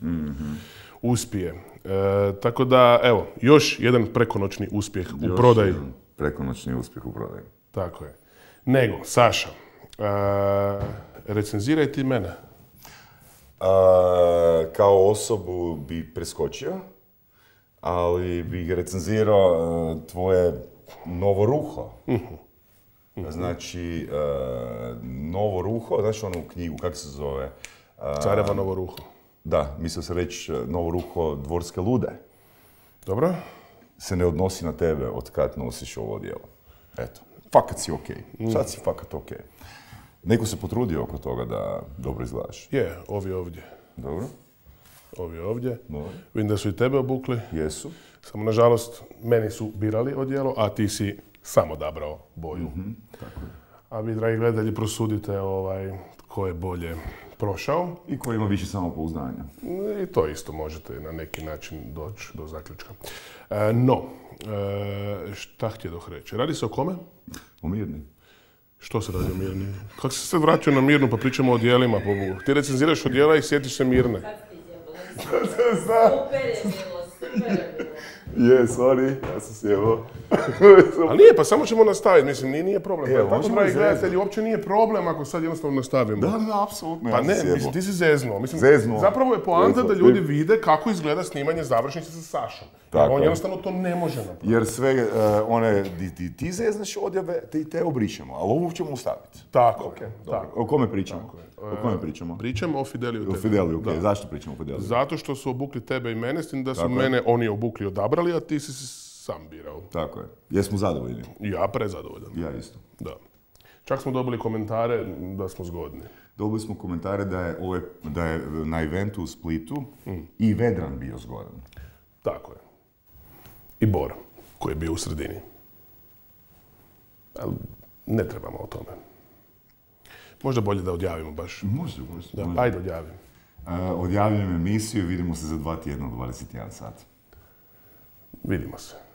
mm-hmm. uspije. E, tako da, evo, još jedan prekonoćni uspjeh još u prodaji. Prekonoćni uspjeh u prodaji. Tako je. Nego, Saša, e, recenziraj ti mene. A, kao osobu bi preskočio, ali bih recenzirao uh, tvoje novo ruho. Uh-huh. Znači, uh, novo ruho, znači onu knjigu, kako se zove? Uh, Careva novo ruho. Da, mislio sam reći novo ruho Dvorske lude. Dobro. Se ne odnosi na tebe od kad nosiš ovo odijelo. Eto, fakat si okej. Okay. Sad si fakat okej. Okay. Neko se potrudio oko toga da dobro izgledaš. Je, ovi ovdje. Dobro. Ovi ovdje. Dobro. Vidim da su i tebe obukli. Jesu. Samo, nažalost, meni su birali odijelo, a ti si sam odabrao boju. Mm-hmm. Tako je. A vi, dragi gledatelji, prosudite ovaj, ko je bolje prošao. I ko ima više samopouzdanja. I to isto možete na neki način doći do zaključka. E, no, e, šta htjedoh reći? Radi se o kome? O Mirni. Što se radi o Mirni? Kako se sad vraćao na Mirnu pa pričamo o odijelima? Ti recenziraš odijela i sjetiš se Mirne. Super je bilo, super je bilo. Je, sorry, ja sam sjebao. Ali nije, pa samo ćemo nastaviti, mislim, nije, nije problem. Evo, tako, možemo dragi zezno. gledatelji, uopće nije problem ako sad jednostavno nastavimo. Da, da, apsolutno, Pa ja ne, sam sjebao. mislim, ti si zeznuo. Mislim, Zeznuo. zapravo je poanta Zeznuo. da ljudi vide kako izgleda snimanje završnice sa Sašom. Jer Tako on je. jednostavno to ne može napraviti. Jer sve uh, one, di ti, ti zeznaš odjave, te, te obrišemo, ali ovo ćemo ostaviti. Tako, Okay, tako. o kome pričamo? Tako je. O kome pričamo? Pričamo o Fideliju O tebi. Fideliju, okej. Da. Zašto pričamo o Fideliju? Zato što su obukli tebe i mene, s tim da su Tako je. mene oni obukli i odabrali, a ti si se sam birao. Tako je. Jesmo zadovoljni? Ja prezadovoljan. Ja isto. Da. Čak smo dobili komentare da smo zgodni. Dobili smo komentare da je, ove, da je na eventu u Splitu mm. i Vedran bio zgodan. Tako je. I Bor, koji je bio u sredini. Ali ne trebamo o tome. Možda bolje da odjavimo baš. Može, može. Da, može. ajde odjavim. Uh, odjavljujem emisiju i vidimo se za dva tjedna u dvadeset jedan sat. Vidimo se.